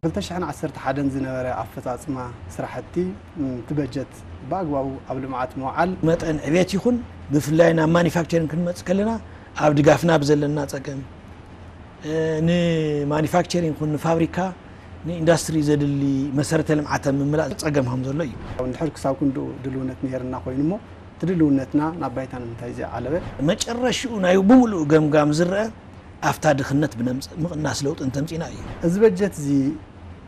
ክልተ ሽሕን ዓሰርተ ሓደን ዝነበረ ኣፈፃፅማ ስራሕቲ፣ ም፣ እቲ በጀት ብኣግባቡ ኣብ ልምዓት ምውዓል። መጠን ዕቤት ይኹን ብፍላይ ናብ ማኒፋክቸሪንግ ክንመፅእ ከለና ኣብ ድጋፍና ብዘለና ፀገም፣ እ፣ ንማኒፋክቸሪንግ ይኹን ንፋብሪካ ንኢንዱስትሪ ዘድሊ መሰረተ ልምዓት ኣብ ምምላእ ፀገም ከም ዘሎ እዩ። እንድሕር ክሳብ ክንድኡ ድልውነት ነይርና ኮይኑ እሞ እቲ ድልውነትና ናብ ባይታ ንምንታይ ዘይዓለበ? መጨረሽኡ ናይ ብምሉእ ገምጋም ዝረአ ኣብታ ድኽነት ብነምፅእ ምቕናስ ለውጢ እንተምፂና እዩ። እዚ በጀት እዚ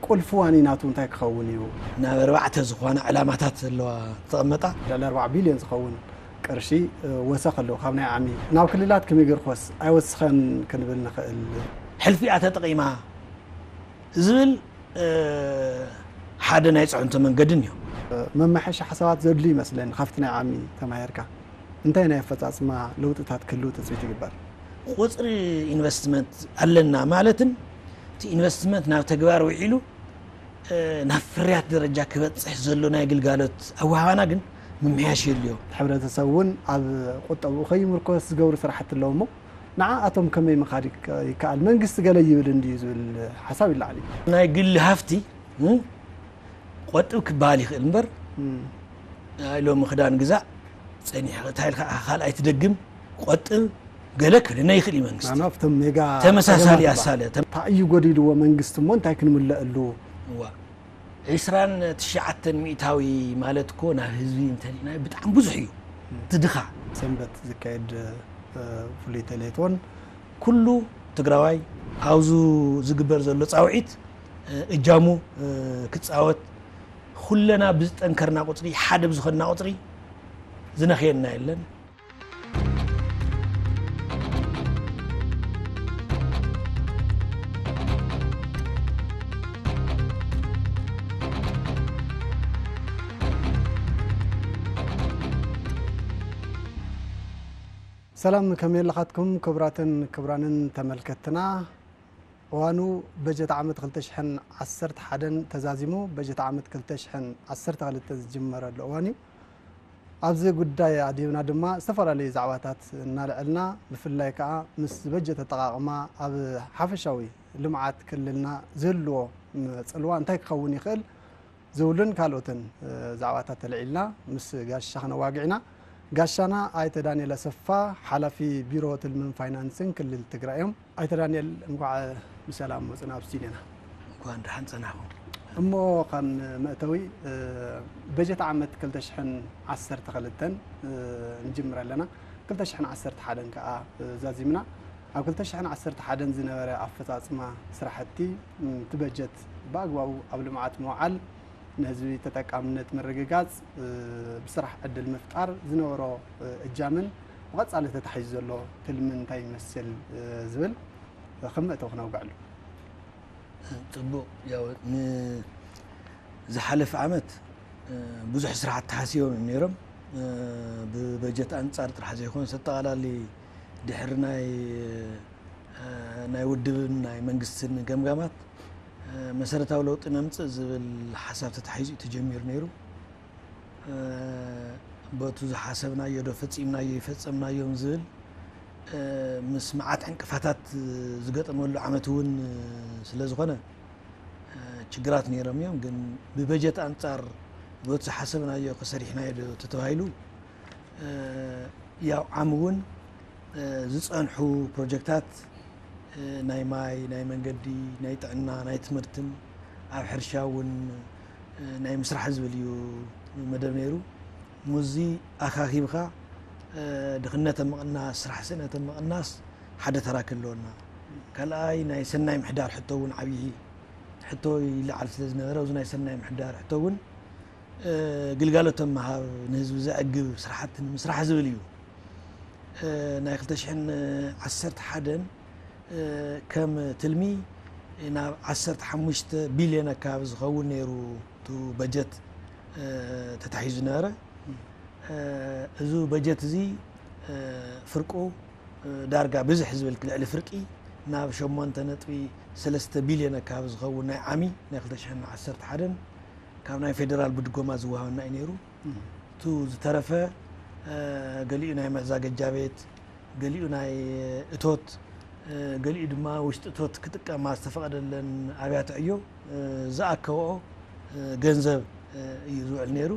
ቁልፊ ዋኒናቱ እንታይ ክኸውን እዩ? ናብ ኣርባዕተ ዝኾና ዕላማታት ዘለዋ ዝተቐመጣ። ልዕሊ ኣርባዓ ቢልዮን ዝኸውን ቅርሺ ወሰኽ ኣለዎ ካብ ናይ ዓሚ ናብ ክልላት ክምግር ኮስ ኣይወስኸን ክንብል ንኽእል። ሕልፊኣ ተጠቒማ ዝብል ሓደ ናይ ፅዕንቶ መንገዲ እኒኦ። መመሐሻ ሓሳባት ዘድልዩ ይመስለኒ ካብቲ ናይ ዓሚ ተማሂርካ እንታይ ናይ ኣፈፃፅማ ለውጥታት ክህልው ትፅቢት ይግበር? ቁፅሪ ኢንቨስትመንት ኣለና ማለትን እቲ ኢንቨስትመንት ናብ ተግባር ውዒሉ ናብ ፍርያት ደረጃ ክበፅሕ ዘሎ ናይ ግልጋሎት ኣወሃባና ግን ምምሕያሽ የድልዮ። ሕብረተሰብ እውን ኣብ ቁጠብኡ ከይምርኮስ ዝገብሩ ስራሕቲ ኣለዎ እሞ ንዓኣቶም ከመይ ምኻድ ይከኣል? መንግስቲ ገለ ይብል እንድዩ ዝብል ሓሳብ ይለዓል እዩ። ናይ ግሊ ሃፍቲ ቆጥብ ክበሃል ይኽእል እምበር ኣይ ሎሚ ክዳን ግዛእ ፀኒሕኻ እንታይ ኢልካ ኢኻ ካልኣይ ትደግም ቆጥብ ገለ ክብለና ይኽእል እዩ መንግስቲ ናና ኣብቶም ሜጋ ተመሳሳሊ ጸገማት ኣሳለ እንታይ እዩ ጎዲልዎ መንግስቲ እሞ እንታይ ክንምለአሉ እዋ ዒስራን ትሽዓተን ሚእታዊ ማለት እኮ ናብ ህዝቢ እንተሊና ብጣዕሚ ብዙሕ እዩ እቲ ድኻ ሰንበት ዝካየድ ፍሉይተ ሌቶን ኩሉ ትግራዋይ ኣብዙ ዝግበር ዘሎ ፃውዒት እጃሙ ክፃወት ኩለና ብዝጠንከርና ቁፅሪ ሓደ ብዝኸንና ቁፅሪ ዝነኽየና የለን። ሰላም ከመይ ኣለኻትኩም ክቡራትን ክቡራንን ተመልከትና። እዋኑ በጀት ዓመት ክልተ ሽሕን ዓሰርተ ሓደን ተዛዚሙ በጀት ዓመት ክልተ ሽሕን ዓሰርተ ክልተን ዝጅመረሉ እዋን እዩ። ኣብዚ ጉዳይ ኣድሂብና ድማ ዝተፈላለዩ ዛዕባታት እናልዐልና ብፍላይ ከዓ ምስ በጀት ኣጠቓቕማ ኣብ ሓፈሻዊ ልምዓት ክልልና ዝህልዎ ፅልዋ እንታይ ክኸውን ይኽእል ዝብሉን ካልኦትን ዛዕባታት ተልዒልና ምስ ጋሻ ክነዋግዕ ኢና። ጋሻና ኣይተ ዳንኤል ኣሰፋ ሓላፊ ቢሮ ትልምን ፋይናንስን ክልል ትግራይ እዮም። ኣይተ ዳንኤል እንኳዕ ብሰላም መፁና ኣብ ስቱዲዮና። እንኳን ደሓን ፀናሕኹም። እሞ ከም መእተዊ በጀት ዓመት ክልተ ሽሕን ዓሰርተ ክልተን ንጅምር ኣለና። ክልተ ሽሕን ዓሰርተ ሓደን ከዓ ዛዚምና ኣብ ክልተ ሽሕን ዓሰርተ ሓደን ዝነበረ ኣፈፃፅማ ስራሕቲ እቲ በጀት ብኣግባቡ ኣብ ልምዓት ምውዓል ንህዝቢ ተጠቃምነት ምርግጋፅ ብስራሕ ዕድል ምፍጣር ዝነበሮ እጃምን ብቐፃሊ ተታሒዙ ዘሎ ትልምን እንታይ ይመስል ዝብል ከም መእተዊ ክነውግዐሉ። ፅቡቕ ያው ዝሓለፈ ዓመት ብዙሕ ስራሕቲ ተሓሲቦም እዮም ነይሮም። ብበጀት ኣንፃር ጥራሕ ዘይኮነስ ኣጠቓላሊ ድሕሪ ናይ ናይ ውድብን ናይ መንግስትን ገምጋማት መሰረታዊ ለውጢ ነምፅእ ዝብል ሓሳብ ተታሒዙ እዩ ተጀሚሩ ነይሩ። በቱ ዝሓሰብናዮ ዶ ፈፂምናዮ ይፈፀምናዮም ዝብል ምስ መዓት ዕንቅፋታት ዝገጠመሉ ዓመት እውን ስለ ዝኾነ ችግራት ነይሮም እዮም። ግን ብበጀት ኣንፃር በቱ ዝሓሰብናዮ ከሰሪሕናዮ ዶ ተተባሂሉ ያው ዓም እውን ዝፀንሑ ፕሮጀክታት ናይ ማይ፣ ናይ መንገዲ፣ ናይ ጥዕና፣ ናይ ትምህርትን ኣብ ሕርሻ እውን ናይ ምስራሕ ዝብል እዩ መደብ ነይሩ። ሙዚ ኣኻኺብካ ድኽነት ኣብ ምቕናስ፣ ስራሕ ስእነት ኣብ ምቕናስ ሓደ ተራ ክህልወና። ካልኣይ ናይ ሰናይ ምሕዳር ሕቶ እውን ዓብዪ ሕቶ ይለዓል ስለ ዝነበረ ኣብዚ ናይ ሰናይ ምሕዳር ሕቶ እውን ግልጋሎት ኣብ ምሃብ ንህዝቢ ዘዕግብ ስራሕቲ ንምስራሕ ዝብል እዩ። ናይ ክልተ ሽሕን ዓሰርተ ሓደን ከም ትልሚ ናብ ዓሰርተ ሓሙሽተ ቢልዮን ኣካባቢ ዝኸውን ነይሩ እቲ በጀት ተታሒዙ ነበረ። እዚ በጀት እዚ ፍርቁ ዳርጋ ብዝሕ ዝብል ልዕሊ ፍርቂ ናብ ሸሞንተ ነጥቢ ሰለስተ ቢልዮን ኣካባቢ ዝኸውን ናይ ዓሚ ናይ ክልተ ሽሕን ዓሰርተ ሓደን ካብ ናይ ፌደራል ብድጎማ ዝወሃበና እዩ ነይሩ። እቱ ዝተረፈ ገሊኡ ናይ መዛገጃ ቤት፣ ገሊኡ ናይ እቶት፣ ገሊኡ ድማ ውሽጢ እቶት ክጥቀማ ዝተፈቐደለን ኣብያተ ዕዮ ዝኣከብኦ ገንዘብ እዩ ዝውዕል ነይሩ።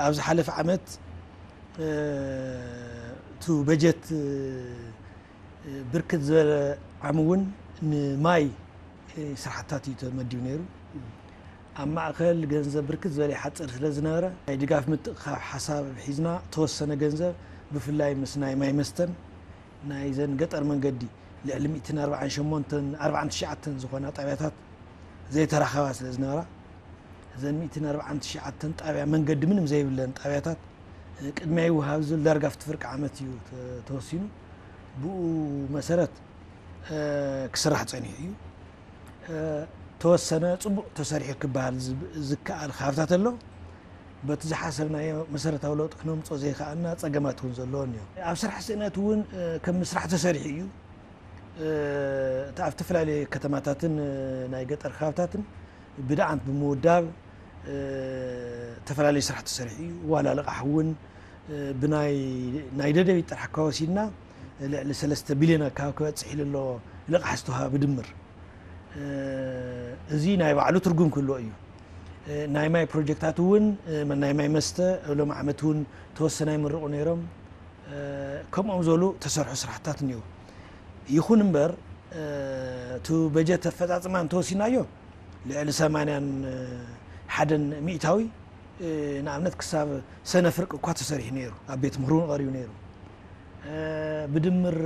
ኣብ ዝሓለፈ ዓመት እቲ በጀት ብርክት ዝበለ ዓም እውን ንማይ ስራሕታት እዩ ተመዲቡ ነይሩ። ኣብ ማእኸል ገንዘብ ብርክት ዝበለ ይሓፅር ስለ ዝነበረ ናይ ድጋፍ ምትእኽኻብ ሓሳብ ሒዝና ተወሰነ ገንዘብ ብፍላይ ምስ ናይ ማይ መስተን ናይ ዘን ገጠር መንገዲ ልዕሊ ሚእትን ኣርባዓን ሸሞንተን ኣርባዓን ትሽዓተን ዝኾና ጣብያታት ዘይተራኸባ ስለ ዝነበራ እዘን ሚእትን ኣርባዓን ትሽዓተን ጣብያ መንገዲ ምንም ዘይብለን ጣብያታት ቅድሚያ ይወሃብ ዝብል ዳርጋ ኣብቲ ፍርቂ ዓመት እዩ ተወሲኑ። ብኡ መሰረት ክስራሕ ፀኒሑ እዩ። ተወሰነ ፅቡቕ ተሰሪሑ ክበሃል ዝከኣል ካብታት ኣሎ። በቲ ዝሓሰብናዮ መሰረታዊ ለውጢ ክነምፅኦ ዘይከኣልና ፀገማት እውን ዘለዎን እዮም። ኣብ ስራሕ ስእነት እውን ከም ምስራሕ ተሰሪሑ እዩ። እቲ ኣብ ዝተፈላለዩ ከተማታትን ናይ ገጠር ከባብታትን ብደኣንት ብምውዳብ ዝተፈላለዩ ስራሕ ተሰሪሑ እዩ። ዋላ ልቓሕ እውን ብናይ ናይ ደደቢት ጥራሕ ከወሲድና ልዕሊ ሰለስተ ቢልዮን ኣካባቢ ክበፅሕ ኢሉ ኣሎ። ልቓሕ ዝተውሃበ ብድምር እዚ ናይ ባዕሉ ትርጉም ክህልዎ እዩ። ናይ ማይ ፕሮጀክታት እውን ናይ ማይ መስተ ሎም ዓመት እውን ተወሰነ ይምርቑ ነይሮም። ከምኦም ዘሉ ተሰርሑ ስራሕታት እኒው። ይኹን እምበር እቲ በጀት ኣፈፃፅማ እንተወሲናዮ ልዕሊ ሰማንያን ሓደን ሚእታዊ ንኣብነት ክሳብ ሰነ ፍርቂ እኳ ተሰሪሑ ነይሩ። ኣብ ቤት ምኽሪ እውን ቀሪቡ ነይሩ። ብድምር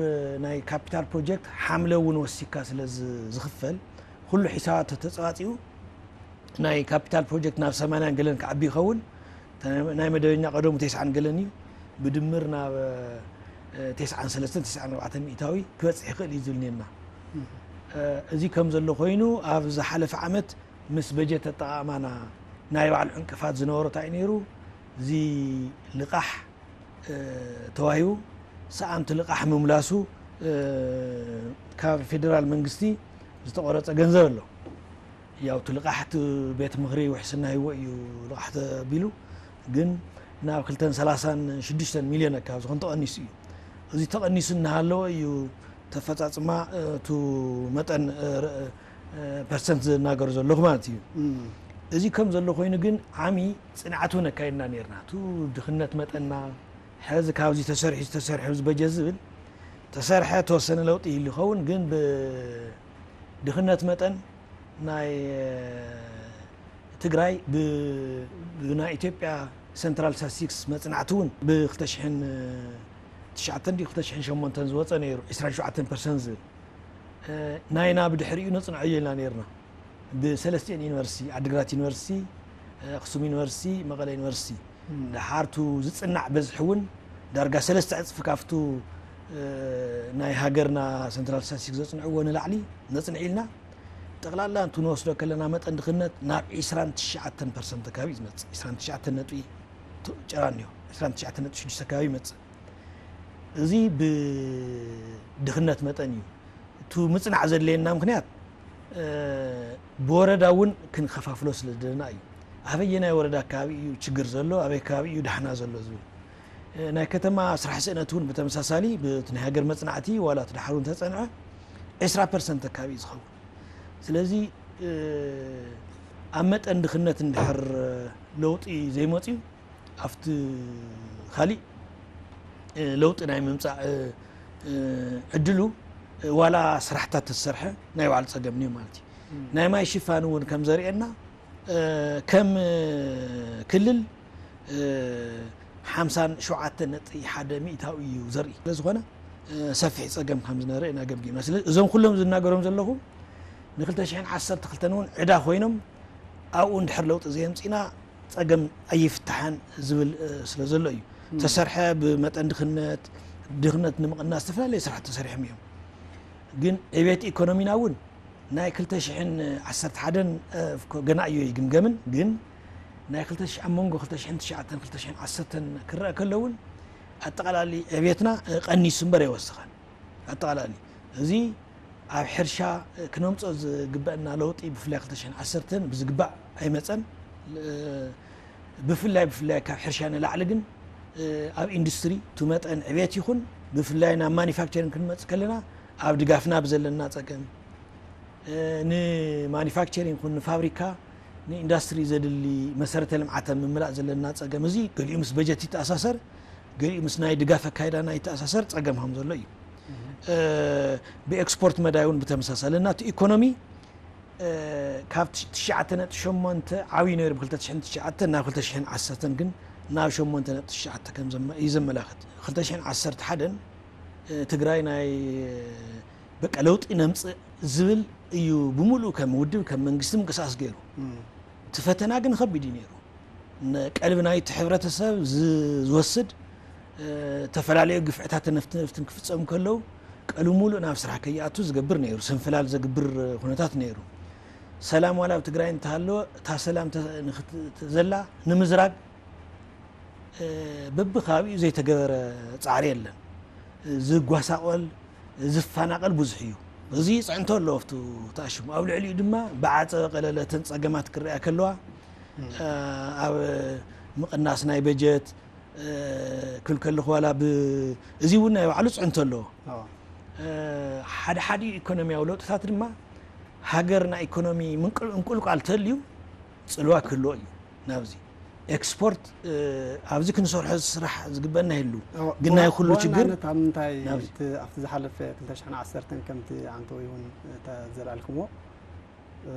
ናይ ካፒታል ፕሮጀክት ሓምለ እውን ወሲካ ስለ ዝኽፈል ኩሉ ሒሳባት ተተፀባፂኡ ናይ ካፒታል ፕሮጀክት ናብ ሰማንያን ገለን ክዓቢ ይኸውን። ናይ መደበኛ ቀደሙ ተስዓን ገለን እዩ። ብድምር ናብ ተስዓን ሰለስተን ተስዓን ኣርባዕተን ሚእታዊ ክበፅሕ ይኽእል እዩ ዝብል ነርና። እዚ ከም ዘሎ ኮይኑ ኣብ ዝሓለፈ ዓመት ምስ በጀት ኣጠቓቕማና ናይ ባዕሉ ዕንቅፋት ዝነበሮ እንታይ እዩ ነይሩ? እዚ ልቓሕ ተዋሂቡ ሰኣንቲ ልቓሕ ምምላሱ ካብ ፌደራል መንግስቲ ዝተቆረፀ ገንዘብ ኣሎ። ያው እቲ ልቓሕ እቲ ቤት ምኽሪ ውሕስና ሂዎ እዩ ልቓሕ ተቢሉ ግን ናብ ክልተን ሰላሳን ሽዱሽተን ሚልዮን ኣካባቢ ዝኾን ተቐኒሱ እዩ። እዚ ተቐኒሱ እናሃለወ እዩ ተፈፃፅማ እቱ መጠን ፐርሰንት ዝናገሩ ዘለኹ ማለት እዩ። እዚ ከም ዘሎ ኮይኑ ግን ዓሚ ፅንዓት እውን ኣካይድና ነርና። እቱ ድኽነት መጠንና ሕዚ ካብዚ ተሰሪሑ ዝተሰርሐ ኣብዚ በጀት ዝብል ተሰርሐ ተወሰነ ለውጢ ይህሉ ይኸውን ግን ብድኽነት መጠን ናይ ትግራይ ብናይ ኢትዮጵያ ሰንትራል ስታቲስቲክስ መፅናዕቲ እውን ብ ክልተ ሽሕን ትሽዓተን ድ ክልተ ሽሕን ሸሞንተን ዝወፀ ነይሩ ዕስራን ሸውዓተን ፐርሰንት ዝብል ናይና ብድሕሪኡ ነፅንዖ ኢልና ነርና። ብሰለስቲኤን ዩኒቨርሲቲ ዓዲግራት ዩኒቨርሲቲ፣ ኣክሱም ዩኒቨርሲቲ፣ መቐለ ዩኒቨርሲቲ ድሓርቱ ዝፅናዕ በዝሒ እውን ዳርጋ ሰለስተ ዕፅፊ ካብቱ ናይ ሃገርና ሰንትራል ስታቲስቲክስ ዘፅንዕዎ ንላዕሊ ነፅንዕ ኢልና። ጠቕላላ እንቱ ንወስዶ ከለና መጠን ድኽነት ናብ ዕስራን ትሽዓተን ፐርሰንት ኣካባቢ እዩ ዝመፅእ። ዕስራን ትሽዓተን ነጥቢ ጭራ እኒኦ ዕስራን ትሽዓተን ነጥቢ ሽዱሽተ ኣካባቢ ይመፅእ። እዚ ብድኽነት መጠን እዩ። እቱ ምፅናዕ ዘድለየና ምክንያት ብወረዳ እውን ክንከፋፍሎ ስለ ዝደለና እዩ። ኣበየናይ ወረዳ ኣካባቢ እዩ ችግር ዘሎ ኣበይ ከባቢ እዩ ዳሕና ዘሎ ዝብል ናይ ከተማ ስራሕ ስእነት እውን ብተመሳሳሊ ብቲ ናይ ሃገር መፅናዕቲ ዋላ እቲ ዳሕሩ እንተፀንዐ ዕስራ ፐርሰንት ኣካባቢ እዩ ዝኸውን። ስለዚ ኣብ መጠን ድኽነት እንድሕር ለውጢ ዘይመፅዩ ኣብቲ ካሊእ ለውጢ ናይ ምምፃእ ዕድሉ ዋላ ስራሕታት ተዝሰርሐ ናይ ባዕሉ ፀገም እዩ ማለት እዩ። ናይ ማይ ሽፋን እውን ከም ዘርእየና ከም ክልል ሓምሳን ሸውዓተን ነጥቢ ሓደ ሚእታዊ እዩ ዘርኢ ስለዝኾነ ሰፊሕ ፀገም ከም ዝነበረ ኢና ገምጊምና። ስለዚ እዞም ኩሎም ዝናገሮም ዘለኹ ንክልተ ሽሕን ዓሰርተ ክልተን እውን ዕዳ ኮይኖም ኣብኡ እንድሕር ለውጢ ዘየምፂና ፀገም ኣይፍታሓን ዝብል ስለ ዘሎ እዩ። ተሰርሐ ብመጠን ድኽነት ድኽነት ንምቕናስ ዝተፈላለዩ ስራሕ ተሰሪሖም እዮም። ግን ዕቤት ኢኮኖሚና እውን ናይ ክልተ ሽሕን ዓሰርተ ሓደን ገና እዩ ይግምገምን ግን ናይ ክልተ ሽሕ ኣብ መንጎ ክልተ ሽሕን ትሽዓተን ክልተ ሽሕን ዓሰርተን ክረአ ከሎ እውን ኣጠቓላሊ ዕቤትና ቀኒሱ እምበር ኣይወሰኸን። ኣጠቓላሊ እዚ ኣብ ሕርሻ ክነምፅኦ ዝግበአና ለውጢ ብፍላይ ክልተ ሽሕን ዓሰርተን ብዝግባእ ኣይመፀን። ብፍላይ ብፍላይ ካብ ሕርሻ ንላዕሊ ግን ኣብ ኢንዱስትሪ እቲ መጠን ዕቤት ይኹን ብፍላይ ናብ ማኒፋክቸሪንግ ክንመፅእ ከለና ኣብ ድጋፍና ብዘለና ጸገም፣ እ፣ ንማኒፋክቸሪንግ ይኹን ንፋብሪካ፣ ንኢንዱስትሪ ዘድሊ መሰረተ ልምዓት ኣብ ምምላእ ዘለና ጸገም፣ እዚ ገሊኡ ምስ በጀት ይተኣሳሰር፣ ገሊኡ ምስ ናይ ድጋፍ ኣካይዳና ይተኣሳሰር ጸገም ከም ዘሎ እዩ። እ፣ ብኤክስፖርት መዳይ እውን ብተመሳሳሊ፣ እና እቲ ኢኮኖሚ፣ እ፣ ካብ ትሽ-፣ ትሽዓተ ነጥቢ ሸሞንተ ዓብዩ ነይሩ፣ ብ ክልተ ሽሕን ትሽዓተን ናብ ክልተ ሽሕን ዓሰርተን ግን ናብ ሸሞንተ ነጥቢ ትሽዓተ ከም ዘመ-፣ እዩ ዘመላኽት። ክልተ ሽሕን ዓሰርተ ሓደን፣ እ፣ ትግራይ ናይ፣ በቃ፣ ለውጢ ነምጽእ ዝብል እዩ ብምሉእ ከም ውድብ፣ ከም መንግስቲ ምንቅስቃስ ገይሩ። እቲ ፈተና ግን ከቢድ እዩ ነይሩ። ነ-፣ ቀልቢ ናይቲ ሕብረተሰብ ዝ-፣ ዝወስድ፣ እ፣ ዝተፈላለዩ ግፍዕታት ነፍቲ ነፍትን ክፍጸሙ ከለዉ ቀልቢ ሙሉእ ናብ ስራሕ ከይኣቱ ዝገብር ነይሩ፣ ሰንፈላል ዘግብር ኩነታት ነይሩ። ሰላም ዋላ ኣብ ትግራይ እንተሃለወ፣ እታ ሰላም ተ-፣ ንኽት-፣ ዘላ ንምዝራግ፣ እ፣ በብከባቢኡ ዘይተገበረ ጻዕሪ የለን። ዝጓሳቆል፣ ዝፈናቀል ብዙሕ እዩ። እዚ ይጽዕንቶ ኣሎ ኣብቱ ተኣሽሙ። ኣብ ልዕሊኡ ድማ ብዓጸበ ቀለለተን ጸገማት ክረኣ ከለዋ፣ እ፣ ኣብ ምቕናስ ናይ በጀት፣ እ፣ ክብል ከለኹ ዋላ ብ-፣ እዚ እውን ናይ ባዕሉ ጽዕንቶ ኣለዎ። ኣዎ። እ፣ ሓደ ሓደ ኢኮኖሚያዊ ለውጥታት ድማ ሃገር ናይ ኢኮኖሚ ምንቅል-፣ እንቁልቋል ተልዩ ጽልዋ ክህልዎ እዩ። ናብዚ ኤክስፖርት፣ እ፣ ኣብዚ ክንሰርሖ ስራሕ ዝግበና ይህሉ። ኣዎ፣ ግን ናይ ብዋ-፣ ኩሉ ችግር ብዋናነት ኣብ ምንታይ ናብዚ። እቲ ኣብቲ ዝሓለፈ ክልተ ሽሕን ዓሰርተን ከምቲ ኣንተወይ እውን ተዘላልክሞ፣ እ፣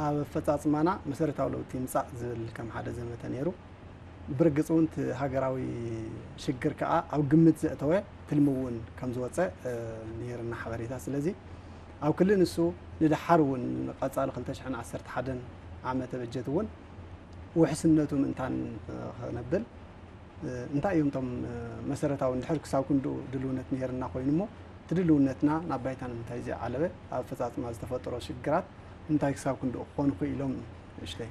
ኣብ ኣፈጻጽማና መሰረታዊ ለውጢ ይምጻእ ዝብል ከም ሓደ ዘመተ ነይሩ። ብርግጽ እውን እቲ ሃገራዊ ሽግር ከኣ ኣብ ግምት ዘእተወ ትልሚ እውን ከም ዝወጸ፣ እ፣ ነይርና ሓበሬታ። ስለዚ ኣብ ክሊ ንሱ ንደሓር እውን ንቐጻሊ ክልተ ሽሕን ዓሰርተ ሓደን ዓመተ በጀት እውን ውሕስነቱ ምእንታን፣ እ፣ ክነብል፣ እ፣ እንታይ እዮም እቶም፣ እ፣ መሰረታዊ እንድሕር ክሳብ ክንድኡ ድልውነት ነይርና ኮይኑ እሞ፣ እቲ ድልውነትና ናብ ባይታ ንምንታይ ዘይዓለበ፣ ኣብ ኣፈጻጽማ ዝተፈጠሮ ሽግራት እንታይ ክሳብ ክንድኡ ክኾኑ ክኢሎም ንእሽተይ?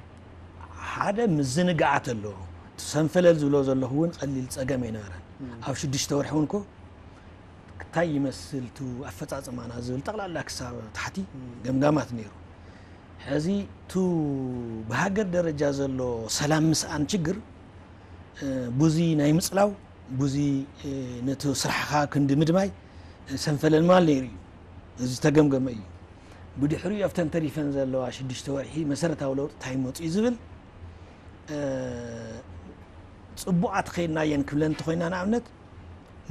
ሓደ ምዝንጋዓት ኣሎ። እቲ ሰንፈለል ዝብሎ ዘለኹ እውን ቀሊል ጸገም ኣይነበረን። እም። ኣብ ሽዱሽተ ወርሒ እውን እኮ እንታይ ይመስል እቲ ኣፈጻጽማና ዝብል ጠቕላላ ክሳብ ታሕቲ እም። ገምጋማት ነይሩ። ሕዚ እቲ ብሃገር ደረጃ ዘሎ ሰላም ምስኣን ችግር፣ እ፣ ቡዚ ናይ ምጽላው፣ ቡዚ፣ እ፣ ነቲ ስራሕኻ ክንዲ ምድማይ፣ እ፣ ሰንፈለል ማል ነይሩ እዩ። እዚ ዝተገምገመ እዩ። ብድሕሪኡ ኣብተን ተሪፈን ዘለዋ ሽዱሽተ ወርሒ መሰረታዊ ለውጢ እንታይ መጺኡ ዝብል፣ እ፣ ጽቡቓት ኸይድናየን ክብለን እንተኾይና፣ ንኣብነት፣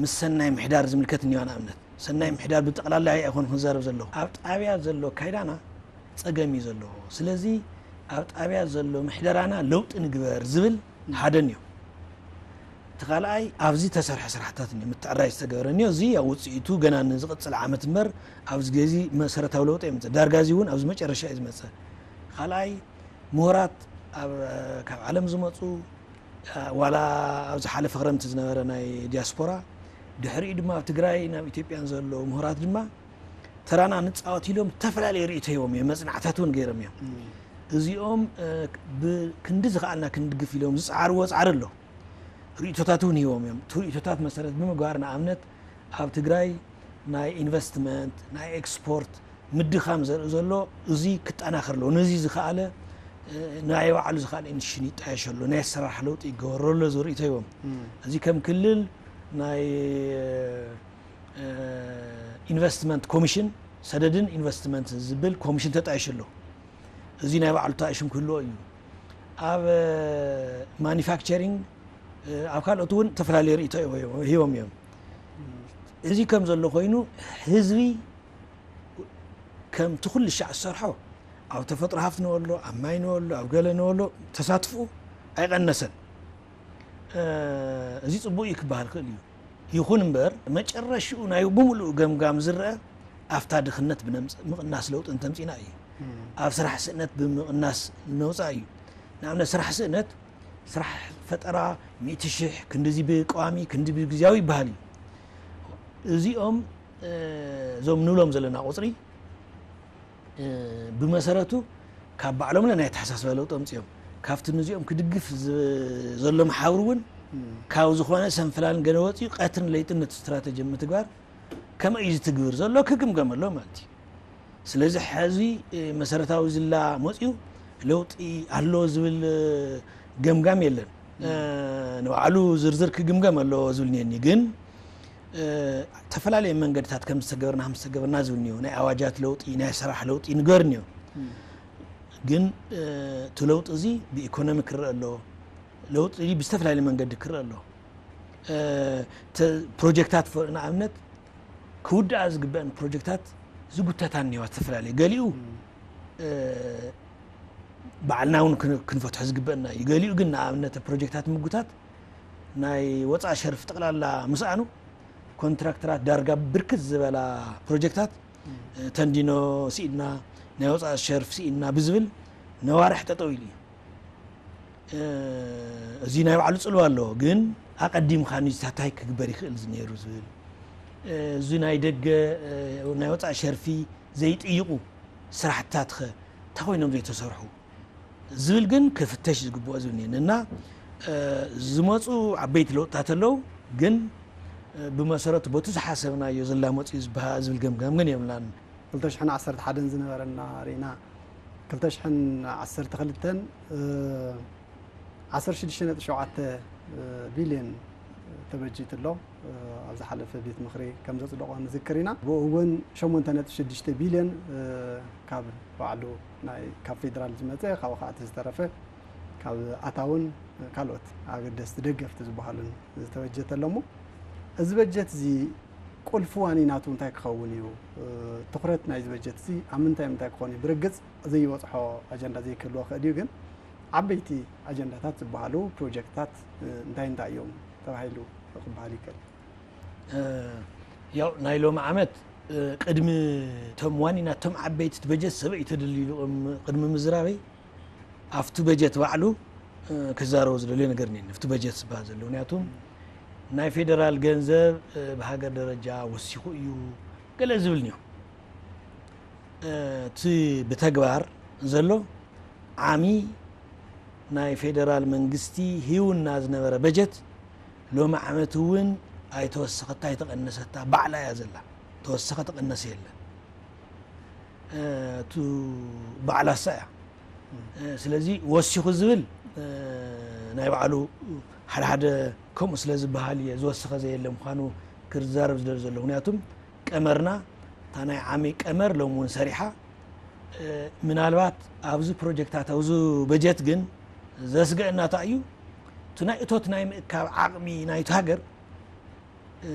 ምስ ሰናይ ምሕዳር ዝምልከት እኒዋ፣ ንኣብነት፣ ሰናይ ምሕዳር ብጠቕላላ ኣይኮን ክንዛረብ ዘለኹ። ኣብ ጣብያ ዘሎ ኣካይዳና ጸገም እዩ ዘለዎ። ስለዚ ኣብ ጣብያ ዘሎ ምሕደራና ለውጢ ንግበር ዝብል ሓደ እኒኦ። እቲ ካልኣይ ኣብዚ ተሰርሐ ስራሕታት እኒኦ፣ ምትዕራይ ዝተገበረ እኒኦ፣ እዚ ኣብ ውፅኢቱ ገና ንዝቕፅል ዓመት እምበር ኣብዚ ግዜ መሰረታዊ ለውጢ ኣይመፅእ። ዳርጋ እዚ እውን ኣብዚ መጨረሻ እዩ ዝመፅእ። ካልኣይ ምሁራት ኣብ፣ ካብ ዓለም ዝመፁ፣ ዋላ ኣብ ዝሓለፈ ክረምቲ ዝነበረ ናይ ዲያስፖራ፣ ድሕሪኡ ድማ ኣብ ትግራይ ናብ ኢትዮጵያን ዘለዉ ምሁራት ድማ ተራና ንፃወት ኢሎም ዝተፈላለዩ ርእይቶ ሂቦም እዮም፣ መፅናዕታት እውን ገይሮም እዮም። እም። እዚኦም፣ እ፣ ብክንዲ ዝኸኣልና ክንድግፍ ኢሎም ዝፀዓርዎ ፃዕሪ ኣሎ። ርእይቶታት እውን ሂቦም እዮም። እቲ ርእይቶታት መሰረት ብምግባር ንኣብነት ኣብ ትግራይ ናይ ኢንቨስትመንት፣ ናይ ኤክስፖርት ምድኻም ዘርኢ ዘሎ፣ እዚ ክጠናኸር ኣለዎ። ነዚ ዝኸኣለ፣ እ፣ ናይ ባዕሉ ዝኸኣለ ኢኒሽን ይጣየሽ ኣሎ፣ ናይ ኣሰራርሓ ለውጢ ይገበሮ ኣሎ ዝብል ርእይቶ ሂቦም። እም። እዚ ከም ክልል ናይ፣ እ፣ ኢንቨስትመንት ኮሚሽን፣ ሰደድን ኢንቨስትመንት ዝብል ኮሚሽን ተጣይሹ ኣሎ። እዚ ናይ ባዕሉ ተጣይሹም ክህልዎ እዩ። ኣብ፣ እ፣ ማኒፋክቸሪንግ፣ እ፣ ኣብ ካልኦት እውን ዝተፈላለዩ ርእይቶ ሂቦም እዮም። እዚ ከም ዘሎ ኮይኑ ህዝቢ ከምቲ ኩሉ ሻዕ ዝሰርሖ ኣብ ተፈጥሮ ሃፍቲ ንበሎ፣ ኣብ ማይ ንበሎ፣ ኣብ ገለ ንበሎ ተሳትፎ ኣይቐነሰን። እ፣ እዚ ጽቡቕ እዩ ክበሃል ክእል እዩ። ይኹን እምበር መጨረሽኡ ናይ ብምሉእ ገምጋም ዝረአ ኣብታ ድኽነት ብነምጽእ ምቕናስ ለውጢ እንተምጺና እዩ። እም። ኣብ ስራሕ ስእነት ብምቕናስ ነውጻእ እዩ። ንኣብነት ስራሕ ስእነት፣ ስራሕ ፈጠራ ሚእቲ ሽሕ፣ ክንድዚ ብቀዋሚ፣ ክንዲ ብግዝያዊ ይበሃል እዩ። እዚኦም፣ እ፣ እዞም ንብሎም ዘለና ቁጽሪ፣ እ፣ ብመሰረቱ ካብ ባዕሎም ናይ ኣተሓሳስባ ለውጢ ኣምጺኦም፣ ካብቲ ነዚኦም ክድግፍ ዝ-፣ ዘሎ መሓውር እውን እም። ካብ ዝኾነ ሰንፈላልን ገለ ወፂኡ ቀትርን ለይጥን ነቲ ስትራተጂ ምትግባር ከመይ እዩ ዝትግብር ዘሎ ክግምገም ኣሎ ማለት እዩ። ስለዚ ሕዚ፣ እ፣ መሰረታዊ ዝላ መፂኡ ለውጢ ኣሎ ዝብል፣ እ፣ ገምጋም የለን። እ፣ ንባዕሉ ዝርዝር ክግምገም ኣለዎ ዝብል እኒአኒ። ግን እ፣ ተፈላለየ መንገድታት ከም ዝተገበርና፣ ከም ዝተገበርና ዝብል እኒኦ። ናይ ኣዋጃት ለውጢ፣ ናይ ስራሕ ለውጢ ንገር እኒኦ። ግን፣ እ፣ እቲ ለውጢ እዚ ብኢኮኖሚ ክረአ ኣሎ። ለውጢ እዚ ብዝተፈላለየ መንገዲ ክረአ ኣሎ። እ፣ ተ-፣ ፕሮጀክታት ፈ-፣ ንኣብነት ክውድኣ ዝግበአን ፕሮጀክታት ዝጉተታ እኒዋ ዝተፈላለየ። ገሊኡ፣ እ፣ ባዕልና እውን ክን-፣ ክንፈትሖ ዝግበአና እዩ። ገሊኡ ግን ንኣብነት ፕሮጀክታት ምጉታት ናይ ወፃእ ሸርፊ ጠቕላላ ምስኣኑ ኮንትራክተራት ዳርጋ ብርክት ዝበላ ፕሮጀክታት፣ እ፣ ተንዲኖ ስኢድና፣ ናይ ወፃእ ሸርፊ ስኢድና ብዝብል ነዋርሕ ጠጠው ኢሉ እዩ። እ፣ እዚ ናይ ባዕሉ ጽልዋ ኣለዎ፣ ግን ኣቐዲምካ ንዚታት እንታይ ክግበር ይኽእል እዚ ነይሩ ዝብል፣ እ፣ እዚ ናይ ደገ፣ እ፣ ናይ ወጻኢ ሸርፊ ዘይጥይቑ ስራሕትታት ኸ እንታይ ኮይኖም ዘይተሰርሑ ዝብል ግን ክፍተሽ ዝግብኦ ዝብል እኒሀ። እና፣ እ፣ ዝመጹ ዓበይቲ ለውጥታት ኣለዉ፣ ግን፣ እ፣ ብመሰረቱ በቱ ዝሓሰብናዮ ዝላመጹ እዩ ዝበሃ-፣ ዝብል ገምጋም ግን የብልናን። ክልተ ሽሕን ዓሰርተ ሓደን ዝነበረና ርኢና፣ ክልተ ሽሕን ዓሰርተ ክልተን፣ እ፣ ዓሰርተ ሽዱሽተ ነጥቢ ሸውዓተ ቢልዮን ተበጂቱ ኣሎ። እ፣ ኣብ ዝሓለፈ ቤት ምኽሪ ከም ዘጽደቖ ንዝክር ኢና። ብኡ እውን ሸሞንተ ነጥቢ ሽዱሽተ ቢልዮን፣ እ፣ ካብ ባዕሉ ናይ፣ ካብ ፌደራል ዝመጸ፣ ካብኡ ከዓ እቲ ዝተረፈ ካብ ኣታውን ካልኦት ኣገደስቲ ደገፍቲ ዝበሃሉን ዝተበጀተ ኣሎ እሞ፣ እዚ በጀት እዚ ቁልፊ ዋኒናቱ እንታይ ክኸውን እዩ? እ፣ ትኹረት ናይዚ በጀት እዚ ኣብ ምንታይ ምንታይ ክኾን እዩ? ብርግጽ ዘይበጽሖ ኣጀንዳ ዘይክህልዎ ክእል እዩ፣ ግን ዓበይቲ ኣጀንዳታት ዝበሃሉ ፕሮጀክትታት፣ እ፣ እንታይ እንታይ እዮም ተባሂሉ ክበሃል ይክእል? እ፣ ያው ናይ ሎሚ ዓመት፣ እ፣ ቅድሚ እቶም ዋኒናት፣ እቶም ዓበይቲ እቲ በጀት ሰበይ ተደልዩ ኢሉ ቅድሚ፣ ቅድሚ ምዝራበይ ኣብቲ በጀት ባዕሉ፣ እ፣ ክዛረቦ ዝደልዮ ነገር እኒአኒ፣ ኣብቲ በጀት ዝበሃል ዘሎ። ምክንያቱ ናይ ፌደራል ገንዘብ፣ እ፣ ብሃገር ደረጃ ወሲኹ እዩ ገለ ዝብል እኒኦ። እ፣ እቲ ብተግባር ዘሎ ዓሚ ናይ ፌደራል መንግስቲ ሂውና ዝነበረ በጀት ሎሚ ዓመት እውን ኣይተወሰኸታ፣ ኣይተቐነሰታ፣ ባዕላ እያ ዘላ። ተወሰኸ ተቐነሰ የለን። እ፣ እቱ ባዕላ እሳ እያ። እ፣ ስለዚ ወሲኹ ዝብል፣ እ፣ ናይ ባዕሉ ሓደ ሓደ ከምኡ ስለ ዝበሃል እየ ዝወሰኸ ዘየለ ምዃኑ ክዛረብ ዝደሊ ዘሎ። ምክንያቱም ቀመርና፣ እታ ናይ ዓሚ ቀመር ሎም እውን ሰሪሓ። እ፣ ምናልባት ኣብዚ ፕሮጀክታት፣ ኣብዚ በጀት ግን ዘስገአና እንታይ እዩ? እቲ ናይ እቶት ናይ ምእካብ ዓቕሚ ናይቲ ሃገር፣ እ፣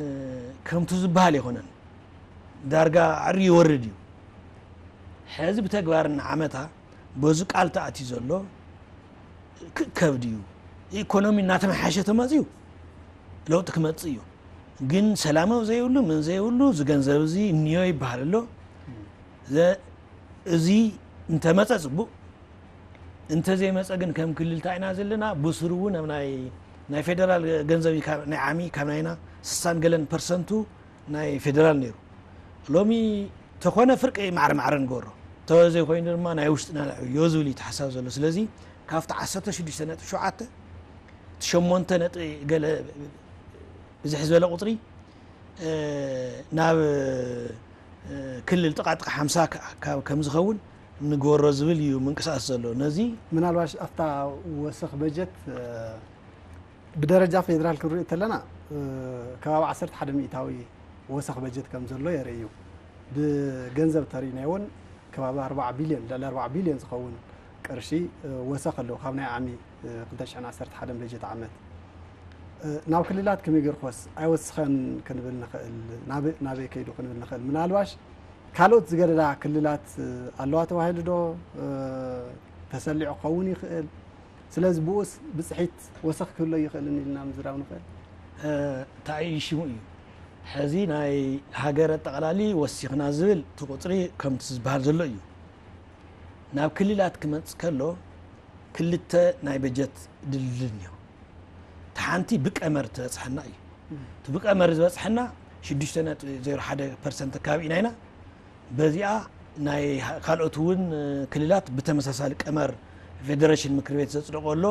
ከምቱ ዝበሃል ኣይኮነን። ዳርጋ ዕሪ ይወርድ እዩ። ሕዚ ብተግባር እናዓመታ በዚ ቃል ተኣትዩ ዘሎ ክእከብ ድዩ? ኢኮኖሚ እናተመሓሸ ተመፅዩ ለውጢ ክመፅእ እዩ። ግን ሰላም ኣብ ዘይብሉ፣ ምን ዘይብሉ፣ እዚ ገንዘብ እዚ እኒዮ ይበሃል ኣሎ። ዘ-፣ እዚ እንተመፀ ፅቡቅ፣ እንተዘይመፀ ግን ከም ክልል እንታይ ኢና ዘለና? ብስሩ እውን ኣብ ናይ፣ ናይ ፌደራል ገንዘብ እዩ፣ ካብ ናይ ዓሚ፣ ካብ ናይና ስሳን ገለን ፐርሰንቱ ናይ ፌደራል ነይሩ። ሎሚ ተኾነ ፍርቂ ማዕረ ማዕረ ንገብሮ። ተዘይኮይኑ ድማ ናይ ውሽጥና ንዕብዮ ዝብል እዩ ተሓሳብ ዘሎ። ስለዚ ካብቲ ዓሰርተ ሽዱሽተ ነጥቢ ሸውዓተ፣ እቲ ሸሞንተ ነጥቢ ገለ ብዝሕ ዝበለ ቁፅሪ፣ እ፣ ናብ፣ እ፣ ክልል ጥቓ ጥቓ ሓምሳ ከ-፣ ካብ ከም ዝኸውን ንግበሮ ዝብል እዩ ምንቅስቃስ ዘሎ። ነዚ ምናልባሽ ኣብታ ወሰኽ በጀት፣ እ፣ ብደረጃ ፌደራል ክንሪኦ እንተለና፣ እ፣ ከባቢ ዓሰርተ ሓደ ሚእታዊ ወሰኽ በጀት ከም ዘሎ የርኢ እዩ። ብገንዘብ ተሪእናዮ እውን ከባቢ ኣርባዓ ቢልዮን፣ ልዕሊ ኣርባዓ ቢልዮን ዝኸውን ቅርሺ፣ እ፣ ወሰኽ ኣለዎ ካብ ናይ ዓሚ፣ እ፣ ክልተ ሽሕን ዓሰርተ ሓደን በጀት ዓመት። እ፣ ናብ ክልላት ከመይ ጌርኩዎስ ኣይወስኸን ክንብል ንኽእል? ናበ-፣ ናበይ ከይዱ ክንብል ንኽእል? ምናልባሽ ካልኦት ዝገደዳ ክልላት፣ እ፣ ኣለዋ ተባሂሉ ዶ፣ እ፣ ተሰሊዑ ክኸውን ይኽእል? ስለዚ ብኡስ ብፅሒት ወሰኽ ክህሎ ይኽእልን ኢልና ምዝራብ ንኽእል? እ፣ እንታይ እዩ ሽሙ እዩ። ሕዚ ናይ ሃገር ኣጠቓላሊ ወሲኽና ዝብል እቲ ቁፅሪ ከምቲ ዝበሃል ዘሎ እዩ። ናብ ክልላት ክመጽእ ከሎ ክልተ ናይ በጀት ድልድል እኒኦ። እቲ ሓንቲ ብቀመር ትበጽሐና እዩ። እቲ ብቀመር ዝበጽሐና ሽዱሽተ ነጥቢ ዜሮ ሓደ ፐርሰንት ኣካባቢ ኢና ኢና። በዚኣ ናይ ካልኦት እውን ክልላት ብተመሳሳሊ ቀመር ፌደሬሽን ምክር ቤት ዘጽደቆ ኣሎ።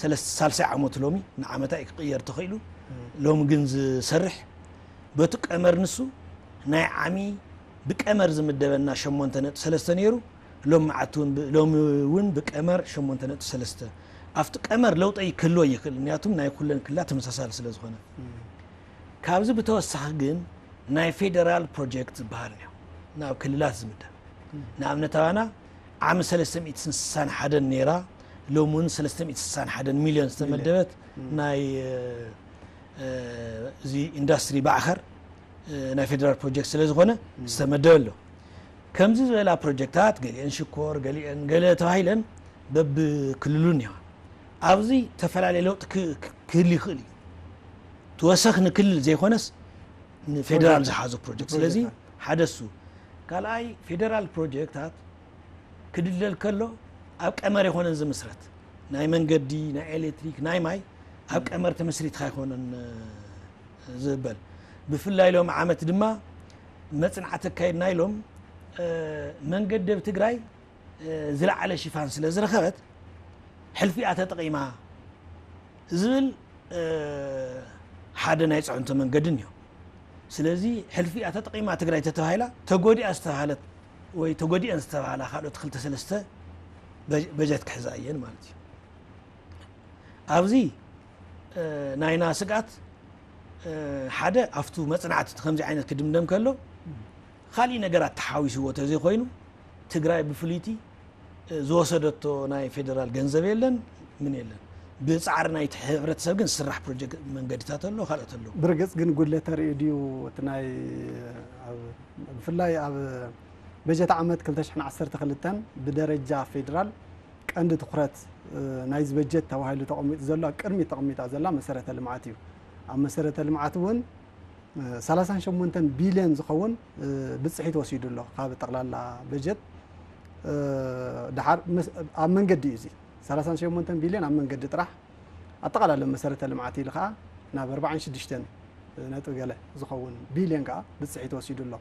ሰለስተ፣ ሳልሳይ ዓመቱ ሎሚ ንዓመታ እዩ ክቕየር ተኽኢሉ። ሎሚ ግን ዝሰርሕ በቲ ቀመር ንሱ ናይ ዓሚ ብቀመር ዝምደበና ሸሞንተ ነጥቢ ሰለስተ ነይሩ። ሎሚ መዓልቲ እውን ብ-፣ ሎሚ እውን ብቀመር ሸሞንተ ነጥቢ ሰለስተ። ኣብቲ ቀመር ለውጢ ክህልዎ ይኽእል፣ ምክንያቱም ናይ ኩለን ክልላት ተመሳሳሊ ስለ ዝኾነ። ካብዚ ብተወሳኺ ግን ናይ ፌደራል ፕሮጀክት ዝበሃል እዩ ናብ ክልላት ዝምደብ። ንኣብነት ኣባና ዓሚ ሰለስተ ሚእትን ስሳን ሓደን ነይራ፣ ሎም እውን ሰለስተ ሚእትን ስሳን ሓደን ሚልዮን ዝተመደበት ናይ እዚ ኢንዳስትሪ ባዕኸር ናይ ፌደራል ፕሮጀክት ስለ ዝኾነ ዝተመደበ ኣሎ። ከምዚ ዝበላ ፕሮጀክታት ገሊአን ሽኮር ገሊአን ገለ ተባሂለን በብክልሉ እኒዋ። ኣብዚ ተፈላለየ ለውጢ ክህል ይኽእል እዩ። ተወሰኽ ንክልል ዘይኮነስ ንፌደራል ዝሓዞ ፕሮጀክት። ስለዚ ሓደ እሱ። ካልኣይ ፌደራል ፕሮጀክታት ክድለል ከሎ ኣብ ቀመር ይኾነን ዝምስረት። ናይ መንገዲ፣ ናይ ኤሌክትሪክ፣ ናይ ማይ ኣብ ቀመር ተመስሪትካ ኣይኮነን ዝበል። ብፍላይ ሎም ዓመት ድማ መፅናዕቲ ኣካይድና ኢሎም መንገዲ ኣብ ትግራይ ዝለዓለ ሽፋን ስለ ዝረኸበት ሕልፊኣ ተጠቒማ ዝብል ሓደ ናይ ፅዕንቶ መንገዲ እኒኦ። ስለዚ ሕልፊኣ ተጠቒማ ትግራይ ተተባሂላ ተጎዲኣ ዝተባሃለት ወይ ተጎዲአን ዝተባሃላ ካልኦት ክልተ ሰለስተ በጀት ክሕዛ እየን ማለት እዩ። ኣብዚ ናይና ስግኣት ሓደ ኣብቱ መፅናዕቲ ከምዚ ዓይነት ክድምደም ከሎ ካሊእ ነገራት ተሓዊስዎ ተዘይኮይኑ ትግራይ ብፍልይቲ ዝወሰደቶ ናይ ፌደራል ገንዘብ የለን፣ ምን የለን። ብፃዕሪ ናይቲ ሕብረተሰብ ግን ዝስራሕ ፕሮጀክት መንገድታት ኣሎ፣ ካልኦት ኣሎ። ብርግፅ ግን ጉድለት ተርእዩ ድዩ? እቲ ናይ ብፍላይ ኣብ በጀት ዓመት ክልተ ሽሕን ዓሰርተ ክልተን ብደረጃ ፌደራል ቀንዲ ትኩረት ናይዚ በጀት ተባሂሉ ተቐሚጡ ዘሎ ኣብ ቅድሚት ተቐሚጣ ዘላ መሰረተ ልምዓት እዩ። ኣብ መሰረተ ልምዓት እውን ሰላሳን ሸሞንተን ቢልዮን ዝኸውን ብፅሒት ወሲዱ ኣሎ ካብ ጠቕላላ በጀት። ድሓር ኣብ መንገዲ እዩ እዚ ሰላሳን ሸሞንተን ቢልዮን ኣብ መንገዲ ጥራሕ። ኣጠቓላለ መሰረተ ልምዓት ኢሉ ከዓ ናብ ኣርባዓን ሽዱሽተን ነጥቢ ገለ ዝኸውን ቢልዮን ከዓ ብፅሒት ወሲዱ ኣሎ።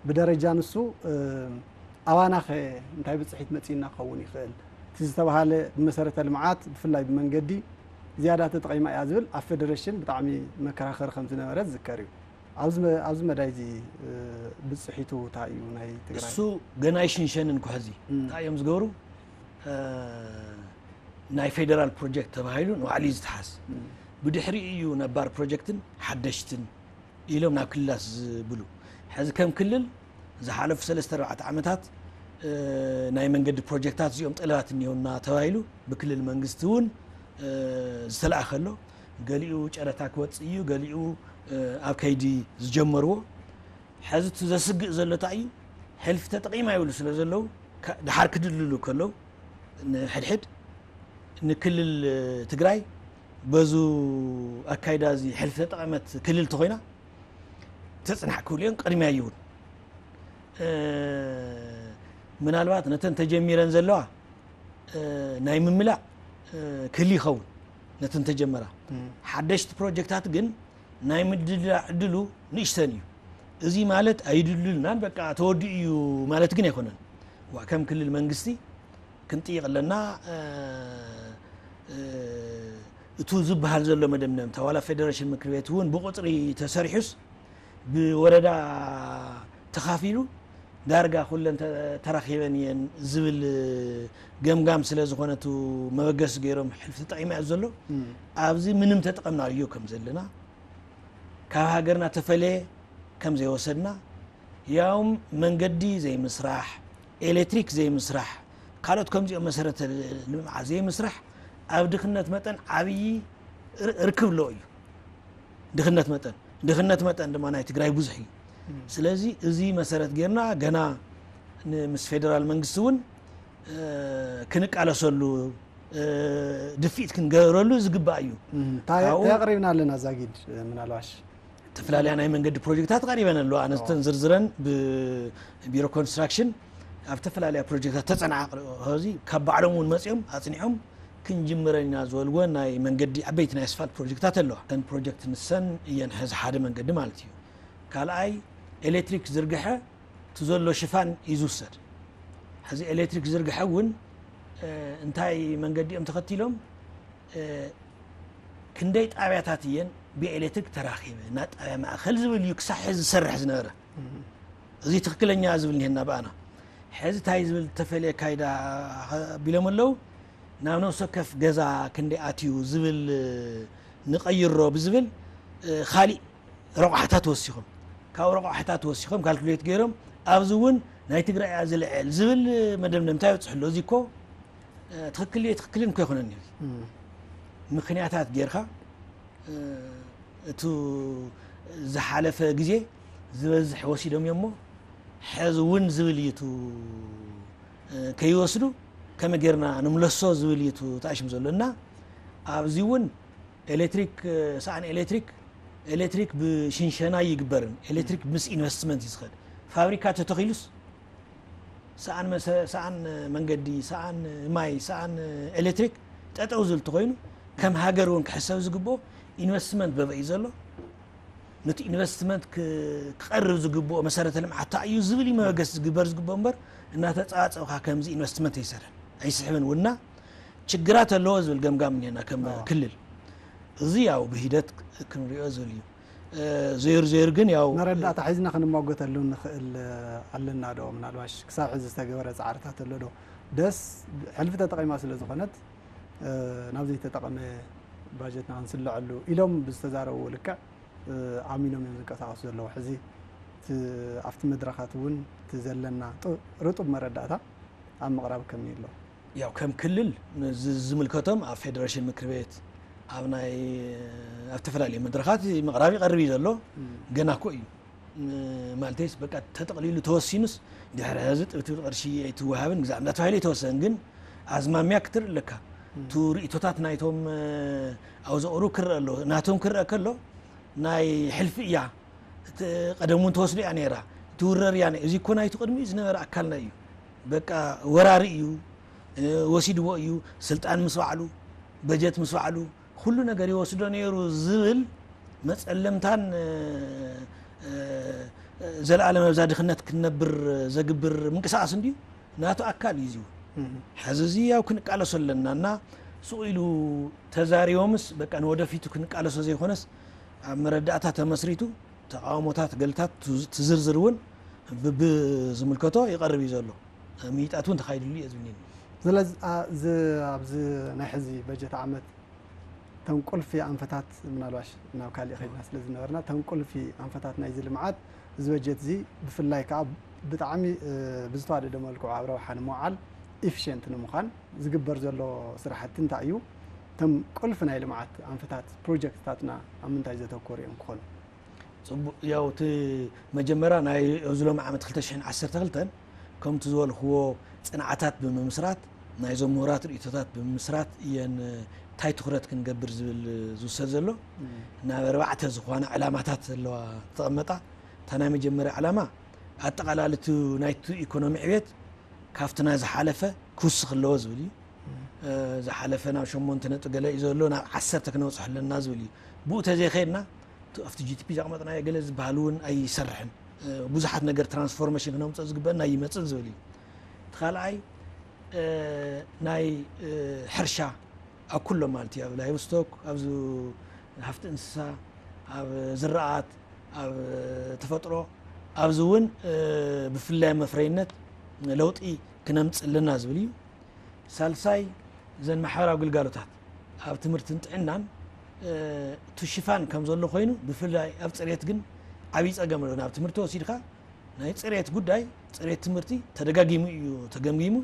ብደረጃ ንሱ ኣባናኸ እንታይ ብፅሒት መፂእና ክኸውን ይኽእል? እቲ ዝተባሃለ ብመሰረተ ልምዓት ብፍላይ ብመንገዲ ዝያዳ ተጠቒማ እያ ዝብል ኣብ ፌደሬሽን ብጣዕሚ መከራኸሪ ከም ዝነበረ ዝዝከር እዩ። ኣብዚ መዳይ እዚ ብፅሒቱ እንታይ እዩ ናይ ትግራይ? እሱ ገና ኣይሽንሸንን ኩሕዚ እንታይ እዮም ዝገብሩ? ናይ ፌደራል ፕሮጀክት ተባሂሉ ንባዕሉ እዩ ዝተሓዝ። ብድሕሪኡ እዩ ነባር ፕሮጀክትን ሓደሽትን ኢሎም ናብ ክልላት ዝብሉ። ሕዚ ከም ክልል ዝሓለፉ ሰለስተ ኣርባዕተ ዓመታት ናይ መንገዲ ፕሮጀክታት እዚኦም ጠለባት እኒኦና ተባሂሉ ብክልል መንግስቲ እውን ዝተለኣኸ ኣሎ። ገሊኡ ጨረታ ክወፅእ እዩ፣ ገሊኡ ኣብ ከይዲ ዝጀመርዎ። ሕዚ እቲ ዘስግእ ዘሎ እንታይ እዩ? ሕልፊ ተጠቒማ ይብሉ ስለ ዘለዉ ድሓር ክድልሉ ከለዉ ንሕድሕድ ንክልል ትግራይ በዙ ኣካይዳ እዚ ሕልፊ ተጠቐመት ክልል ተኾይና ተፅናሕ ክብሉ እዮም። ቅድሚያ ይውን ምናልባት ነተን ተጀሚረን ዘለዋ ናይ ምምላእ ክህል ይኸውን ነተን ተጀመራ። ሓደሽቲ ፕሮጀክታት ግን ናይ ምድላ ዕድሉ ንእሽተን እዩ። እዚ ማለት ኣይድልልናን በቃ ተወዲኡ እዩ ማለት ግን ኣይኮነን። ዋ ከም ክልል መንግስቲ ክንጥይቕ ኣለና። እቱ ዝበሃል ዘሎ መደምደምታ ዋላ ፌደሬሽን ምክር ቤት እውን ብቁፅሪ ተሰሪሑስ ብወረዳ ተኻፊሉ ዳርጋ ኩለን ተራኺበን እየን ዝብል ገምጋም ስለ ዝኾነ እቱ መበገሲ ገይሮም ሕልፊ ተጠቒማ እዩ ዘሎ። ኣብዚ ምንም ተጠቐምና እዩ ከም ዘለና ካብ ሃገርና ተፈለየ ከም ዘይወሰድና ያውም መንገዲ ዘይምስራሕ፣ ኤሌክትሪክ ዘይምስራሕ፣ ካልኦት ከምዚኦም መሰረተ ልምዓት ዘይምስራሕ ኣብ ድኽነት መጠን ዓብዪ ርክብ ኣሎ እዩ። ድኽነት መጠን ድኽነት መጠን ድማ ናይ ትግራይ ብዙሕ እዩ። ስለዚ እዚ መሰረት ጌርና ገና ምስ ፌደራል መንግስቲ እውን ክንቃለሰሉ ድፊት ክንገብረሉ ዝግባእ እዩ። እንታይ ኣቕሪብና ኣለና ዛጊድ ምናልባሽ ተፈላለያ ናይ መንገዲ ፕሮጀክታት ቀሪበን ኣለዋ። ኣነስተን ዝርዝረን ብቢሮ ኮንስትራክሽን ኣብ ተፈላለያ ፕሮጀክታት ተፀናዓ እዚ ካብ ባዕሎም እውን መፂኦም ኣፅኒዖም ክንጅምረን ኢና ዝበልዎ ናይ መንገዲ ዓበይቲ ናይ ኣስፋልት ፕሮጀክታት ኣለዋ። እተን ፕሮጀክት ንሰን እየን ሕዚ ሓደ መንገዲ ማለት እዩ። ካልኣይ ኤሌክትሪክ ዝርግሐ እቲ ዘሎ ሽፋን እዩ ዝውሰድ። ሕዚ ኤሌክትሪክ ዝርግሐ እውን እንታይ መንገዲ እዮም ተኸቲሎም ክንደይ ጣብያታት እየን ብኤሌክትሪክ ተራኺበ ናብ ጣብያ ማእኸል ዝብል እዩ ክሳብ ሕዚ ዝሰርሕ ዝነበረ። እዚ ትኽክለኛ ዝብል እኒሀና ብኣና። ሕዚ እንታይ ዝብል ተፈልየ ኣካይዳ ኣቢሎም ኣለዉ። ናብ ነፍሲ ወከፍ ገዛ ክንደይ ኣትዩ ዝብል ንቐይሮ ብዝብል ካሊእ ረቋሕታት ወሲኾም፣ ካብ ረቋሕታት ወሲኾም ካልኩሌት ገይሮም፣ ኣብዚ እውን ናይ ትግራይ እያ ዝልዕል ዝብል መደምደምታ ይበፅሑ ኣሎ። እዚ እኮ ትክክል ትክክልን እኮ ይኮነን እዩ። ምክንያታት ጌርካ እቲ ዝሓለፈ ግዜ ዝበዝሕ ወሲዶም እዮም እሞ፣ ሕዚ እውን ዝብል እዩ እቲ ከይወስዱ ከመይ ጌርና ንምለሶ ዝብል እዩ እቲ ተኣሽም ዘሎ። እና ኣብዚ እውን ኤሌክትሪክ፣ ሰኣን ኤሌክትሪክ፣ ኤሌክትሪክ ብሽንሸና ይግበርን፣ ኤሌክትሪክ ምስ ኢንቨስትመንት እዩ ዝኸድ። ፋብሪካ ተተኺሉስ ሰኣን መሰ-፣ ሰኣን መንገዲ፣ ሰኣን ማይ፣ ሰኣን ኤሌክትሪክ ጠጠው ዝብል ተኾይኑ፣ ከም ሃገር እውን ክሕሰብ ዝግብኦ ኢንቨስትመንት በበይ ዘሎ፣ ነቲ ኢንቨስትመንት ክ-፣ ክቐርብ ዝግብኦ መሰረተ ልምዓት እንታይ እዩ ዝብል እዩ መበገሲ ዝግበር ዝግብኦ እምበር፣ እናተጻጸብካ ከምዚ ኢንቨስትመንት ኣይሰርሕን፣ ኣይስሕብን ውና ችግራት ኣለዎ ዝብል ገምጋም እኒአና ከም ክልል። እዚ ያው ብሂደት ክንሪኦ ዝብል እዩ። እ፣ ዘይሩ ዘይሩ ግን ያው መረዳእታ ሒዝና ክንሟገተሉ ንኽእል ኣለና ዶ? ምናልባሽ ክሳብ ሕዚ ዝተገበረ ጻዕርታት ኣሎ ዶ? ደስ ሕልፊ ተጠቒማ ስለ ዝኾነት፣ እ፣ ናብ ዘይተጠቐመ ባጀትና ክንስልዐሉ ኢሎም ብዝተዛረቡ ልክዕ፣ እ፣ ኣሚኖም እዮም ዝንቀሳቐሱ ዘለዉ። ሕዚ እቲ ኣብቲ መድረኻት እውን እቲ ዘለና ጡ-፣ ርጡብ መረዳእታ ኣብ ምቕራብ ከመይ ኣሎ? ያው ከም ክልል ዝ-፣ ዝምልከቶም ኣብ ፌደሬሽን ምክር ቤት፣ ኣብ ናይ፣ ኣብ ዝተፈላለዩ መድረኻት ምቕራብ ይቐርብ እዩ ዘሎ። እም። ገና እኮ እዩ። ም-፣ ማለተይስ በቃ ተጠቕሊሉ ተወሲኑስ ድሕሪ ሕዚ ጥብትብ ቅርሺ ኣይትወሃብን ግዛዕ እንዳተባሂለ ይተወሰን፣ ግን ኣዝማሚያ ክትርኢ ኣለካ። እም። እቲ ርእቶታት ናይቶም፣ እ፣ ኣብ ዘቕርቡ ክረአ ኣሎ። ናቶም ክረአ ከሎ ናይ ሕልፊ እያ። እቲ ቀደም እውን ተወስዶ እያ ነይራ። ትውረር እያ ነይ-፣ እዚ እኮ ናይቲ ቅድሚኡ ዝነበረ ኣካልና እዩ። በቃ ወራሪ እዩ፣ እ፣ ወሲድዎ እዩ፣ ስልጣን ምስ ባዕሉ፣ በጀት ምስ ባዕሉ፣ ኩሉ ነገር ይወስዶ ነይሩ ዝብል መጸለምታን፣ እ፣ እ፣ ዘለኣለም ኣብዛ ድኽነት ክንነብር ዘግብር ምንቅስቃስ እንድዩ፣ ናቱ ኣካል እዩ እዚ እውን። እም። ሕዚ እዚ ያው ክንቃለሶ ኣለና እና ሱቕ ኢሉ ተዛሪቦምስ በቃ ንወደፊቱ ክንቃለሶ ዘይኮነስ ኣብ መረዳእታ ተመስሪቱ ተቃውሞታት ገልታት ትዝ-፣ ትዝርዝር እውን ብብዝምልከቶ ይቐርብ እዩ ዘሎ። ምይጣት እውን ተኻይድሉ እየ ዝብኒ። ስለዚ፣ ኣ፣ ዝ-፣ ኣብዚ ናይ ሕዚ በጀት ዓመት ተን ቁልፊ ኣንፈታት ምናልባሽ ናብ ካሊእ ኸይድና ስለ ዝነበርና፣ ተን ቁልፊ ኣንፈታት ናይዚ ልምዓት እዚ በጀት እዚ ብፍላይ ከዓ ብጣዕሚ፣ እ፣ ብዝተዋደደ መልክዑ ኣብ ረብሓ ንምውዓል ኢፊሽንት ንምዃን ዝግበር ዘሎ ስራሕቲ እንታይ እዩ? እቶም ቁልፊ ናይ ልምዓት ኣንፈታት ፕሮጀክትታትና ኣብ ምንታይ ዘተኮሩ እዮም ክኾኑ? ጽቡቕ። ያው እቲ መጀመርያ ናይ ኣብዚ ሎሚ ዓመት ክልተ ሽሕን ዓሰርተ ክልተን ከምቲ ዝበልክዎ ጽንዓታት ብምምስራት ናይዞም ምሁራት ርእይቶታት ብምምስራት እየን እንታይ ትኹረት ክንገብር ዝብል ዝውሰድ ዘሎ። እም። ናብ ኣርባዕተ ዝኾና ዕላማታት ዘለዋ ዝተቐመጣ። እታ ናይ መጀመርያ ዕላማ ኣጠቓላሊ እቲ ናይቲ ኢኮኖሚ ዕቤት ካብቲ ናይ ዝሓለፈ ክውስኽ ኣለዎ ዝብል እዩ። እም። እ፣ ዝሓለፈ ናብ ሸሞንተ ነጥቢ ገለ እዩ ዘሎ፣ ናብ ዓሰርተ ክነብጽሖ ኣለና ዝብል እዩ። ብኡ ተዘይኸይድና እቲ ኣብቲ ጂ ቲ ፒ ዘቕመጥናዮ ገለ ዝበሃል እውን ኣይሰርሕን። እ፣ ብዙሓት ነገር ትራንስፎርሜሽን ክነምፅኦ ዝግበአና ኣይመፅእን ዝብል እዩ። እቲ ካልኣይ፣ እ፣ ናይ፣ እ፣ ሕርሻ ኣብ ኩሎም ማለት እዩ፣ ኣብ ላይቭስቶክ፣ ኣብ ዝ-፣ ሃፍቲ እንስሳ፣ ኣብ ዝራኣት፣ ኣብ ተፈጥሮ፣ ኣብዚ እውን፣ እ፣ ብፍላይ መፍረይነት ለውጢ ክነምፅእ ኣለና ዝብል እዩ። ሳልሳይ፣ እዘን ማሕበራዊ ግልጋሎታት ኣብ ትምህርትን ጥዕናን፣ እ፣ እቲ ሽፋን ከም ዘሎ ኮይኑ፣ ብፍላይ ኣብ ፅሬት ግን ዓብዪ ፀገም ኣሎ። ናብ ትምህርቲ ወሲድካ ናይ ፅሬት ጉዳይ፣ ፅሬት ትምህርቲ ተደጋጊሙ እዩ ተገምጊሙ።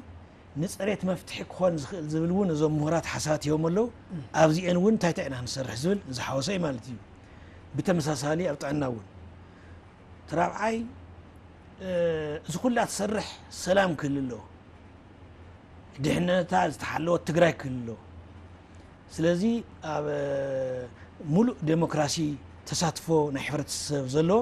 ንፅሬት መፍትሒ ክኾን ዝኽእል ዝብል እውን እዞም ምሁራት ሓሳባት ሂቦም ኣለዉ። ኣብዚአን እውን እንታይ እንታይ ኢና ክንሰርሕ ዝብል ዝሓወሰ እዩ ማለት እዩ። ብተመሳሳሊ ኣብ ጥዕና እውን እቲ ራብዓይ፣ እ፣ እዚ ኩላ ትሰርሕ ሰላም ክህሉ ኣለዎ። ድሕነታ ዝተሓለወት ትግራይ ክህሉ ኣለዎ። ስለዚ ኣብ፣ እ፣ ሙሉእ ዴሞክራሲ ተሳትፎ ናይ ሕብረተሰብ ዘለዎ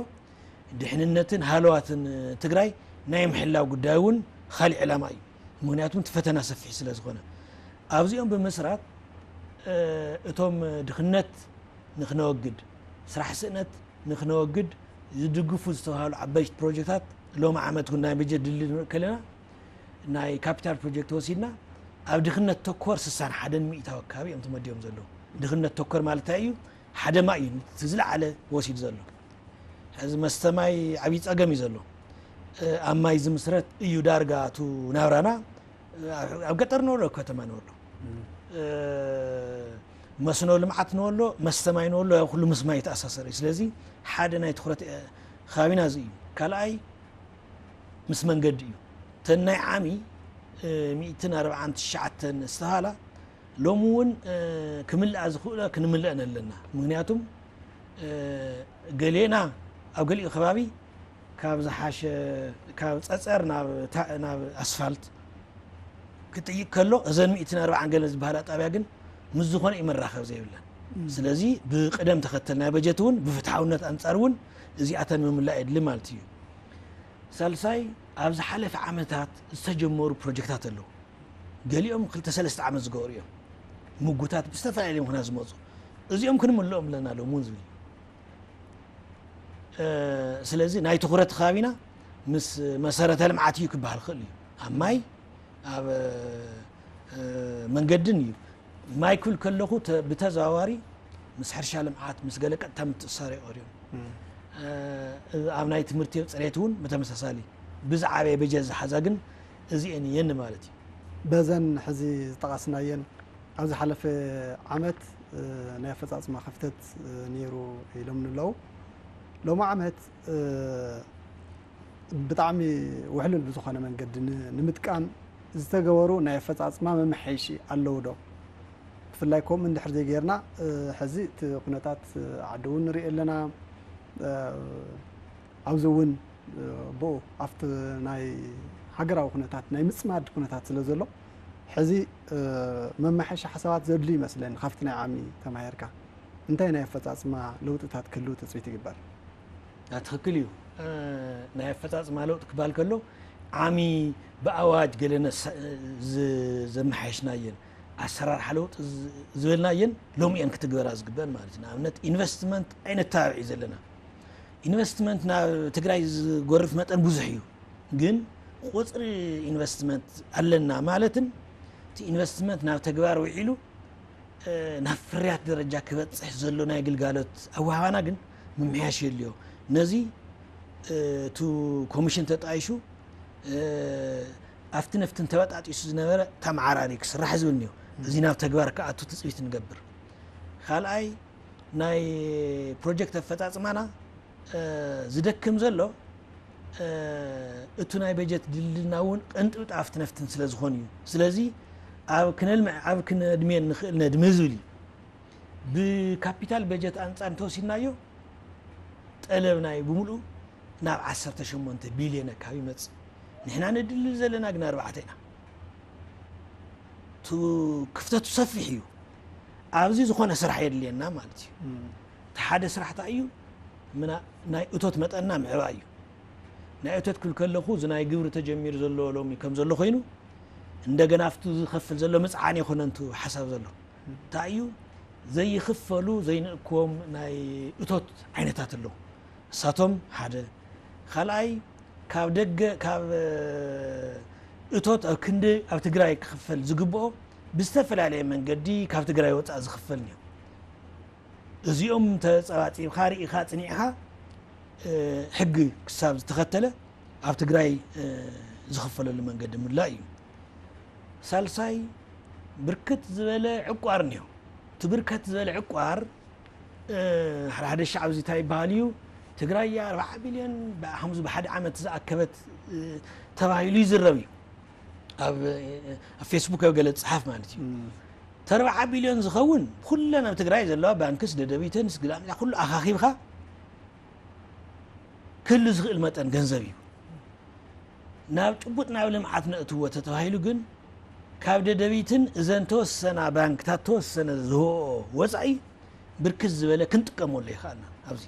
ድሕንነትን ሃለዋትን ትግራይ ናይ ምሕላው ጉዳይ እውን ካሊእ ዕላማ እዩ። ምኽንያቱም እቲ ፈተና ሰፊሕ ስለ ዝኾነ ኣብዚኦም ብምስራት፣ እ፣ እቶም ድኽነት ንክነወግድ፣ ስራሕ ስእነት ንክነወግድ ዝድግፉ ዝተባሃሉ ዓበይቲ ፕሮጀክታት ሎሚ ዓመት እውን ናይ በጀት ድልድል ንርኢ ከለና ናይ ካፒታል ፕሮጀክት ወሲድና ኣብ ድኽነት ተኮር ስሳን ሓደን ሚእታዊ ኣካባቢ እዮም ተመዲቦም ዘለዉ። ድኽነት ተኮር ማለት እንታይ እዩ? ሓደ ማይ እዩ እቲ ዝለዓለ ወሲድ ዘሎ። ሕዚ መስተ ማይ ዓብዪ ጸገም እዩ ዘሎ። እ፣ ኣብ ማይ ዝምስረት እዩ ዳርጋ እቱ ናብራና። እ፣ ኣብ፣ ኣብ ገጠር ንወሎ፣ ኣብ ከተማ ንወሎ። እም። እ፣ መስኖ ልምዓት ንበሎ፣ መስተ ማይ ንበሎ፣ ያው ኩሉ ምስ ማይ ይተኣሳሰር እዩ። ስለዚ ሓደ ናይ ትኹረት፣ እ፣ ከባቢና እዚ እዩ። ካልኣይ ምስ መንገዲ እዩ። እተን ናይ ዓሚ፣ እ፣ ሚእትን ኣርባዓን ትሽዓተን ዝተባሃላ ሎሚ እውን፣ እ፣ ክምልኣ ዝኽእሎ ክንምልአን ኣለና። ምክንያቱም፣ እ፣ ገሌና ኣብ ገሊኡ ከባቢ ካብ ዝሓሸ፣ ካብ ጸጸር ናብ ታ-፣ ናብ ኣስፋልት ክጥይቅ ከሎ፣ እዘን ሚእትን ኣርባዓን ገለ ዝበሃላ ጣብያ ግን ምስ ዝኾነ እዩ መራኸብ ዘይብለን። ስለዚ ብቅደም ተኸተል ናይ በጀት እውን ብፍትሓውነት ኣንጻር እውን እዚኣተን ምምላእ የድሊ ማለት እዩ። ሳልሳይ፣ ኣብ ዝሓለፈ ዓመታት ዝተጀመሩ ፕሮጀክታት ኣለዉ። ገሊኦም ክልተ ሰለስተ ዓመት ዝገበሩ እዮም። ምጉታት ብዝተፈላለየ ምኽንያት ዝመፁ። እዚኦም ክንምልኦም ኣለና ሎም እውን ዝብል እዩ። እ፣ ስለዚ ናይ ትኹረት ከባቢና ምስ መሰረተ ልምዓት እዩ ክበሃል ክእል እዩ። ኣብ ማይ፣ ኣብ፣ እ፣ መንገድን እዩ። ማይ ክብል ከለኹ ተ-፣ ብተዘዋዋሪ ምስ ሕርሻ ልምዓት፣ ምስ ገለ ቀጥታ ምትእሳር ይቐርዮም። እ፣ ኣብ ናይ ትምህርቲ ጽሬት እውን ብተመሳሳሊ ብዝዓበየ በጀት ዝሓዛ ግን እዚኤን እየን ማለት እዩ። በዘን ሕዚ ዝጠቐስናየን ኣብ ዝሓለፈ ዓመት፣ እ፣ ናይ ኣፈጻጽማ ክፍተት፣ እ፣ ነይሩ ኢሎም ንለዉ። ሎሚ ዓመት፣ እ፣ ብጣዕሚ ውሕሉል ብዝኾነ መንገዲ ን-፣ ንምጥቃም ዝተገበሩ ናይ ኣፈጻጽማ መመሓየሺ ኣለዉ ዶ? ብፍላይ ከምኡ እንድሕር ዘይጌርና፣ እ፣ ሕዚ እቲ ኩነታት ዓዲ እውን ንርኢ ኣለና። እ፣ ኣብዚ እውን፣ እ፣ ብኡ ኣብቲ ናይ ሃገራዊ ኩነታት፣ ናይ ምጽማድ ኩነታት ስለ ዘሎ፣ ሕዚ፣ እ፣ መመሓየሺ ሓሳባት ዘድልዩ ይመስለኒ። ካብቲ ናይ ዓሚ ተማሂርካ እንታይ ናይ ኣፈጻጽማ ለውጥታት ክህልው ትጽቢት ይግበር? ያ፣ ትኽክል እዩ። እ፣ ናይ ኣፈጻጽማ ለውጢ ክበሃል ከሎ፣ ዓሚ ብኣዋጅ ገለ ነሳ-፣ ዝ-፣ ዘመሓየሽናየን፣ ኣሰራርሓ ለውጢ ዝ-፣ ዝበልናየን ሎሚ እየን ክትግበራ ዝግበአን ማለት እዩ። ንኣብነት፣ ኢንቨስትመንት ኣይነተባብዕ እዩ ዘለና። ኢንቨስትመንት ናብ ትግራይ ዝጎርፍ መጠን ብዙሕ እዩ፣ ግን ቁፅሪ ኢንቨስትመንት ኣለና ማለትን እቲ ኢንቨስትመንት ናብ ተግባር ውዒሉ፣ እ፣ ናብ ፍርያት ደረጃ ክበፅሕ ዘሎ ናይ ግልጋሎት ኣወሃባና ግን ምምሕያሽ የድልዮ። ነዚ፣ እ፣ እቱ ኮሚሽን ተጣይሹ፣ እ፣ ኣብቲ ነፍትን ተበጣጢሱ ዝነበረ ተመዓራሪ ክስራሕ ዝብል እኒኦ። እዚ ናብ ተግባር ክኣቱ ትፅቢት ንገብር። ካልኣይ፣ ናይ ፕሮጀክት ኣፈፃፅማና፣ እ፣ ዝደክም ዘሎ፣ እ፣ እቱ ናይ በጀት ድልድልና እውን ቅንጥብጣ ኣብቲ ነፍትን ስለ ዝኾን እዩ። ስለዚ ኣብ ክነልምዕ፣ ኣብ ክነድምየን ንኽእል ነድሚ ዝብል እዩ። ብካፒታል በጀት ኣንጻር እንተወሲድናዮ፣ ጠለብ ናይ ብምሉኡ ናብ ዓሰርተ ሸሞንተ ቢልዮን ኣካባቢ ይመጽእ። ንሕና ንድልል ዘለና ግን ኣርባዕተ ኢና። እቱ ክፍተቱ ሰፊሕ እዩ። ኣብዚ ዝኾነ ስራሕ የድልየና ማለት እዩ። እም። እቲ ሓደ ስራሕ እንታይ እዩ? ምና-፣ ናይ እቶት መጠንና ምዕባይ እዩ። ናይ እቶት ክብል ከለኹ፣ እዚ ናይ ግብሪ ተጀሚሩ ዘሎ ሎሚ ከም ዘሎ ኮይኑ፣ እንደገና ኣብቲ ዝኸፍል ዘሎ ምጽዓን ይኾነ እንቱ ሓሳብ ዘሎ። እንታይ እዩ? ዘይኽፈሉ፣ ዘይንእክቦም ናይ እቶት ዓይነታት ኣለዉ። እሳቶም ሓደ። ካልኣይ፣ ካብ ደገ፣ ካብ፣ እ፣ እቶት ኣብ ክንዲ ኣብ ትግራይ ክኽፈል ዝግብኦ ብዝተፈላለየ መንገዲ ካብ ትግራይ ወፃእ ዝኽፈል እዩ። እዚኦም ተፀባፂብካ፣ ርኢኻ፣ ፅኒዕኻ፣ እ፣ ሕጊ ክሳብ ዝተኸተለ ኣብ ትግራይ፣ እ፣ ዝኽፈለሉ መንገዲ ምላእ እዩ። ሳልሳይ፣ ብርክት ዝበለ ዕቋር እኒኦ። እቲ ብርከት ዝበለ ዕቋር፣ እ፣ ሓደ ሓደ ሻዕ ኣብዚ እንታይ ይበሃል እዩ? ትግራይ እያ ኣርባዓ ቢልዮን ብሓምዚ ብሓደ ዓመት ዝኣከበት፣ እ፣ ተባሂሉ ይዝረብ እዩ። ኣብ፣ እ፣ ኣብ ፌስቡክ ኣብ ገለ ዝፅሓፍ ማለት እዩ። እም። እቲ ኣርባዓ ቢልዮን ዝኸውን ኩለን ኣብ ትግራይ ዘለዋ ባንክስ፣ ደደቢትንስ፣ ግላምዛ ኩሉ ኣኻኺብካ ክህሉ ዝኽእል መጠን ገንዘብ እዩ። ናብ ጭቡጥ ናብ ልምዓት ነእትዎ ተተባሂሉ ግን፣ ካብ ደደቢትን እዘን ተወሰና ባንክታት ተወሰነ ዝህብኦ ወጻኢ ብርክት ዝበለ ክንጥቀመሉ ይኽኣልና ኣብዚ።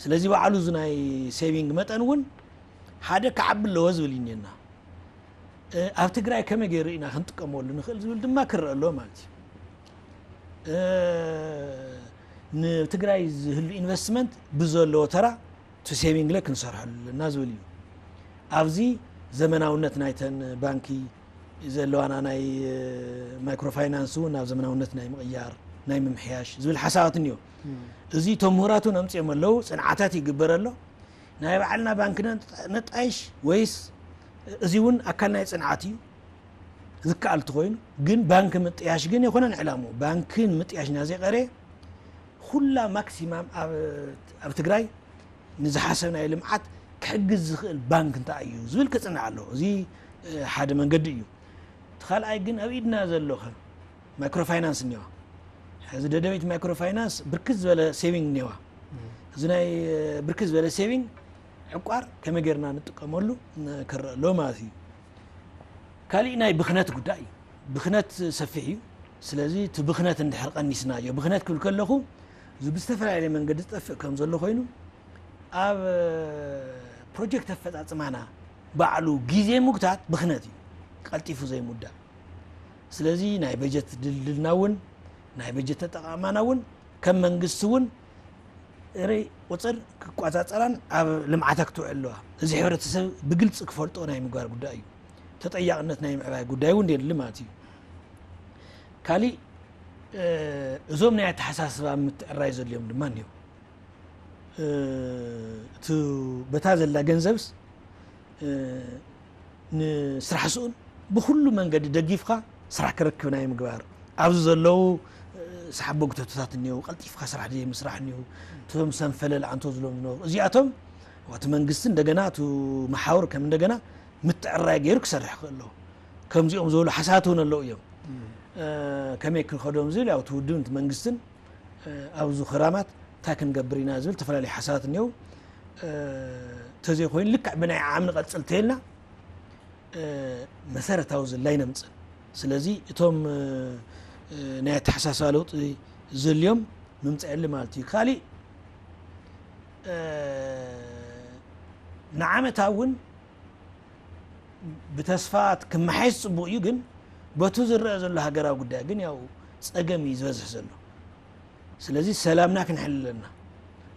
ስለዚ ባዕሉ እዚ ናይ ሴቪንግ መጠን እውን ሓደ ክዓቢ ኣለዎ ዝብል እዩ እኒአና። እ፣ ኣብ ትግራይ ከመይ ገይሩ ኢና ክንጥቀመሉ ንኽእል ዝብል ድማ ክረአ ኣለዎ ማለት እዩ። እ፣ ንትግራይ ዝህሉ ኢንቨስትመንት ብዘለዎ ተራ ቱ ሴቪንግ ለ ክንሰርሐሉ ኣለና ዝብል እዩ። ኣብዚ ዘመናውነት ናይተን ባንኪ ዘለዋና ናይ፣ እ፣ ማይክሮ ፋይናንስ እውን ናብ ዘመናውነት ናይ ምቕያር፣ ናይ ምምሕያሽ ዝብል ሓሳባት እኒኦ። እም። እዚ እቶም ምሁራት እውን ኣምፅኦም ኣለዉ፣ ፅንዓታት ይግበር ኣሎ። ናይ ባዕልና ባንክ ነጥ-፣ ነጣይሽ ወይስ እዚ እውን ኣካል ናይ ፅንዓት እዩ? ዝከኣል እንተኾይኑ፣ ግን ባንክ ምጥያሽ ግን የኮነን ዕላምኡ። ባንክ ንምጥያሽ ኢና ዘይቀረየ፣ ኩላ ማክሲማም ኣብ፣ ኣብ ትግራይ ንዝሓሰብናዮ ልምዓት ክሕግዝ ዝኽእል ባንክ እንታይ እዩ ዝብል ክጽናዕ ኣለዎ። እዚ፣ እ፣ ሓደ መንገዲ እዩ። እቲ ካልኣይ ግን ኣብ ኢድና ዘሎ ኸ ማይክሮ ፋይናንስ እኒዋ። ሕዚ ደደቢት ማይክሮ ፋይናንስ ብርክት ዝበለ ሴቪንግ እኒዋ። እዚ ናይ፣ እ፣ ብርክት ዝበለ ሴቪንግ ዕቋር ከመይ ጌርና ንጥቀመሉ ን-፣ ክረአ ኣለዎ ማለት እዩ። ካሊእ ናይ ብኽነት ጉዳይ እዩ። ብኽነት ሰፊሕ እዩ። ስለዚ እቲ ብኽነት እንድሕር ቀኒስናዮ፣ ብኽነት ክብል ከለኹ እዚ ብዝተፈላለየ መንገዲ ዝጠፍእ ከም ዘሎ ኮይኑ፣ ኣብ ፕሮጀክት ኣፈጻጽማና ባዕሉ ግዜ ምጉታት ብኽነት እዩ፣ ቀልጢፉ ዘይምውዳእ። ስለዚ ናይ በጀት ድልድልና እውን ናይ በጀት ተጠቓማና እውን ከም መንግስቲ እውን ርእ ቁፅር ክቆፃፀራን ኣብ ልምዓታ ክትውዕል ኣለዋ። እዚ ሕብረተሰብ ብግልፂ ክፈልጦ ናይ ምግባር ጉዳይ እዩ። ተጠያቕነት ናይ ምዕባይ ጉዳይ እውን የድሊ ማለት እዩ። ካሊእ፣ እ፣ እዞም ናይ ኣተሓሳስባ ምትዕራይ ዘድልዮም ድማ እኒኦ። እ፣ እቲ በታ ዘላ ገንዘብስ፣ እ፣ ንስራሕ ስኡን ብኹሉ መንገዲ ደጊፍካ ስራሕ ክረክብ ናይ ምግባር፣ ኣብዚ ዘለዉ፣ እ፣ ሰሓቦ ግተቶታት እኒአው፣ ቀልጢፍካ ስራሕ ደይ ምስራሕ እኒአው፣ እቶም ሰንፈለል ኣንቶ ዝሎም ዝነበሩ፣ እዚኣቶም እቲ መንግስቲ እንደገና እቲ መሓውር ከም እንደገና ምትዕራይ ገይሩ ክሰርሕ ክእል ኣለዎ። ከምዚኦም ዝበሉ ሓሳባት እውን ኣለዉ እዮም። እ፣ ከመይ ክንኸዶም ዝብል ያው እቲ ውድብን እቲ መንግስትን፣ እ፣ ኣብዚ ክራማት እንታይ ክንገብር ኢና ዝብል ዝተፈላለዩ ሓሳባት እኒአው። እ፣ እንተዘይኮይኑ ልክዕ ብናይ ዓዓም ንቐጽል እንተኢልና፣ እ፣ መሰረታዊ ዝላይ ነምጽእ። ስለዚ እቶም፣ እ፣ እ፣ ናይ ኣተሓሳስባ ለውጢ ዘልዮም ምምጻእ የለ ማለት እዩ። ካሊእ፣ እ፣ ንዓመታ እውን ብተስፋ ክመሓየሽ ጽቡቕ እዩ፣ ግን በቱ ዝረአ ዘሎ ሃገራዊ ጉዳይ ግን ያው ጸገም እዩ ዝበዝሕ ዘሎ። ስለዚ ሰላምና ክንሕል ኣለና፣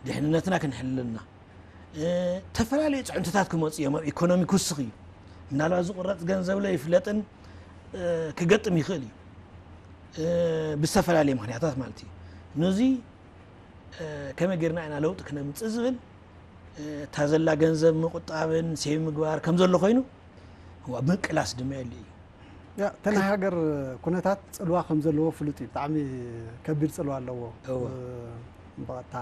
ድሕንነትና ክንሕል ኣለና። እ፣ ዝተፈላለዩ ጽዕንቶታት ክመጹ እዮም። ኣብ ኢኮኖሚ ክውስኽ እዩ። ምናልባት ዝቑረጽ ገንዘብ ለይፍለጥን፣ እ፣ ክገጥም ይኽእል እዩ። እ፣ ብዝተፈላለየ ምኽንያታት ማለት እዩ። ነዚ፣ እ፣ ከመይ ጌርና ኢና ለውጢ ክነምጽእ ዝብል፣ እ፣ እታ ዘላ ገንዘብ ምቑጣብን ሴቭ ምግባር ከም ዘሎ ኮይኑ፣ እዋ፣ ምቅላስ ድማ የድሊ እዩ። ያ፣ እተን ናይ ሃገር ኩነታት ጽልዋ ከም ዘለዎ ፍሉጥ እዩ። ብጣዕሚ ከቢድ ጽልዋ ኣለዎ። እወ። እ፣ ብቐጥታ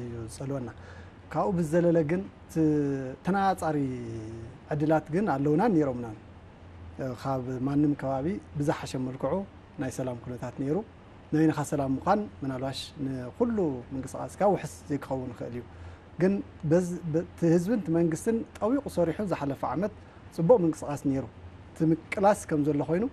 እዩ ዝጸልወና። ካብኡ ብዝዘለለ ግን፣ እቲ ተነጻጻሪ ዕድላት ግን ኣለውናን ነይሮምናን። እ፣ ካብ ማንም ከባቢ ብዝሓሸ መልክዑ ናይ ሰላም ኩነታት ነይሩ። ናይንኻ ሰላም ምዃን ምናልባሽ ንኹሉ ምንቅስቓስካ ውሕስ ዘይክኸውን ይኽእል እዩ። ግን በዝ-፣ በ-፣ እቲ ህዝብን እቲ መንግስትን ጠዊቑ ሰሪሑ ዝሓለፈ ዓመት ጽቡቕ ምንቅስቓስ ነይሩ። እቲ ምቅላስ ከም ዘሎ ኮይኑ፣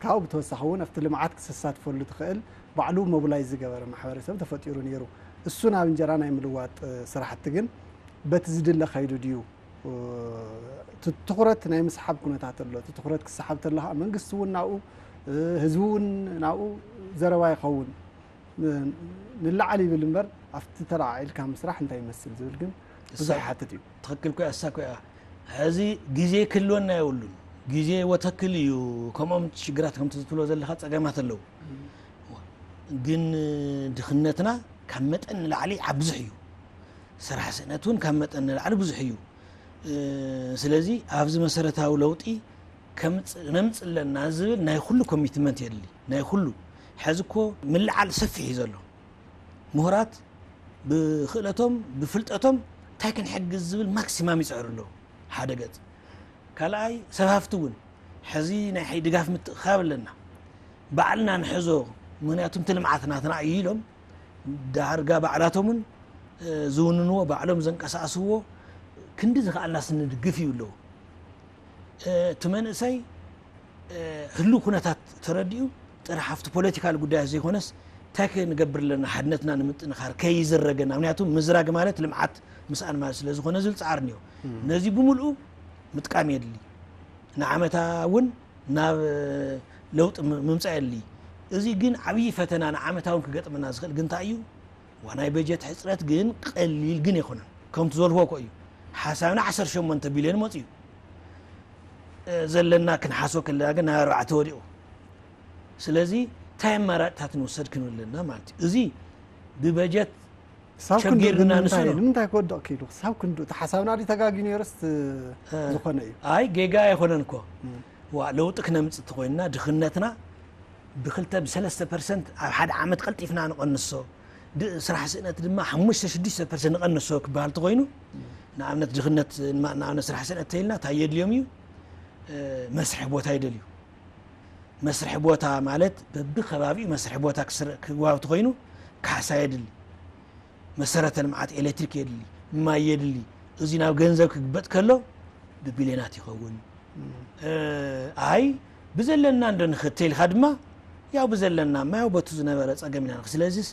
ካብኡ ብተወሳኺ እውን ኣብቲ ልምዓት ክተሳትፈሉ ትኽእል ባዕሉ ሞቢላይዝ ዝገበረ ማሕበረሰብ ተፈጢሩ ነይሩ። እሱ ናብ እንጀራ ናይ ምልዋጥ፣ እ፣ ስራሕቲ ግን በቲ ዝድለ ከይዱ ድዩ? እ፣ እቲ ትኹረት ናይ ምስሓብ ኩነታት ኣሎ። እቲ ትኹረት ክሰሓብ ተሎ ከዓ መንግስቲ እውን ናብኡ፣ እ፣ ህዝቢ እውን ናብኡ ዘረባ ይኸውን። ን-፣ ንላዕሊ ይብል እምበር ኣብቲ ተለዓዒልካ ምስራሕ እንታይ ይመስል ዝብል ግን ብዙሕ እሳ-፣ ይሓትት እዩ። ትኽክል ኮያ፣ እሳ ኮያ። ሕዚ ግዜ ክህልወና የብሉን። ግዜ ወተክል እዩ። ከምኦም ሽግራት ከምቲ ትብሎ ዘለኻ ጸገማት ኣለዉ። ግን ድኽነትና ካብ መጠን ንላዕሊ ኣብዝሕ እዩ። ስራሕ ስእነት እውን ካብ መጠን ንላዕሊ ብዙሕ እዩ። እ፣ ስለዚ ኣብዚ መሰረታዊ ለውጢ ከምጽ-፣ ነምጽእ ኣለና ዝብል ናይ ኩሉ ኮሚትመንት የድሊ። ናይ ኩሉ። ሕዚ እኮ ምልዓል ሰፊሕ እዩ ዘሎ። ምሁራት ብክእለቶም፣ ብፍልጠቶም እንታይ ክንሕግዝ ዝብል ማክሲማም ይጽዕሩ ኣለዉ። ሓደ ገጽ። ካልኣይ፣ ሰብ ሃፍቲ እውን ሕዚ ናይ ሓይ ድጋፍ ምትእኽኻብ ኣለና። ባዕልና ንሕዞ፣ ምኽንያቱ እቲ ልምዓት ናትና እዩ ኢሎም ዳርጋ ባዕላቶምን፣ እ፣ ዝውንንዎ፣ ባዕሎም ዘንቀሳቕስዎ ክንዲ ዝኸኣልናስ ንድግፍ እዩ ኣለዉ። እ፣ እቲ መንእሰይ፣ እ፣ ህሉው ኩነታት ተረዲኡ ጥራሕ ኣብቲ ፖለቲካል ጉዳያት ዘይኮነስ እንታይ ክንገብር ኣለና ሓድነትና ንምጥንኻር ከይዝረገና፣ ምኽንያቱ ምዝራግ ማለት ልምዓት ምስኣን ማለት ስለ ዝኾነ ዝብል ጻዕሪ እኒኦ። እም። ነዚ ብምልኡ ምጥቃም የድሊ። ንዓመታ እውን ናብ ለውጢ ም-፣ ምምጻእ የድሊ። እዚ ግን ዓብዪ ፈተና ንዓመታ እውን ክገጥመና ዝኽእል ግን እንታይ እዩ? ዋ፣ ናይ በጀት ሕጽረት ግን ቀሊል ግን ኣይኮነን። ከምቲ ዝበልክዎ እኮ እዩ። ሓሳብና ዓሰርተ ሸሞንተ ቢልዮን መጺኡ። እ፣ ዘለና ክንሓስቦ ከለና ግን ናብ ኣርባዕተ ወዲቑ። ስለዚ እንታይ ኣማራጭታት ንውሰድ ክንብል ኣለና ማለት እዩ። እዚ ብበጀት ክሳብ ክንድኡ ቸጊርና ግን ንምንታይ፣ ንስኖ። ንምንታይ ክወድቕ ክኢሉ? ክሳብ ክንድኡ እቲ ሓሳብና ድዩ ተጋግዩ ነይሩስ እ፣ ዝኾነ እዩ? ኣይ፣ ጌጋ ኣይኮነን እኮ። እም። ዋ ለውጢ ክነምፅእ ተኮይንና ድኽነትና ብክልተ ብሰለስተ ፐርሰንት ኣብ ሓደ ዓመት ቀልጢፍና ንቐንሶ፣ ድ- ስራሕ ስእነት ድማ ሓሙሽተ ሽዱሽተ ፐርሰንት ንቐንሶ ክበሃል ተኮይኑ፣ ንኣብነት ድኽነት ንማ- ንኣብነት ስራሕ ስእነት ተይልና እንታይ የድልዮም እዩ? መስርሒ ቦታ ይደልዩ። መስርሒ ቦታ ማለት በብከባቢኡ መስርሒ ቦታ ክስረ- ክዋብ ተኮይኑ፣ ካሕሳ የድሊ፣ መሰረተ ልምዓት ኤሌክትሪክ የድሊ፣ ማይ የድሊ። እዚ ናብ ገንዘብ ክግበጥ ከሎ ብቢልዮናት ይኸውን። ኣይ ብዘለና እንዶ ንኽተይልካ ድማ፣ ያው ብዘለና ማ ያው በቱ ዝነበረ ጸገም ኢና ንኽ- ስለዚስ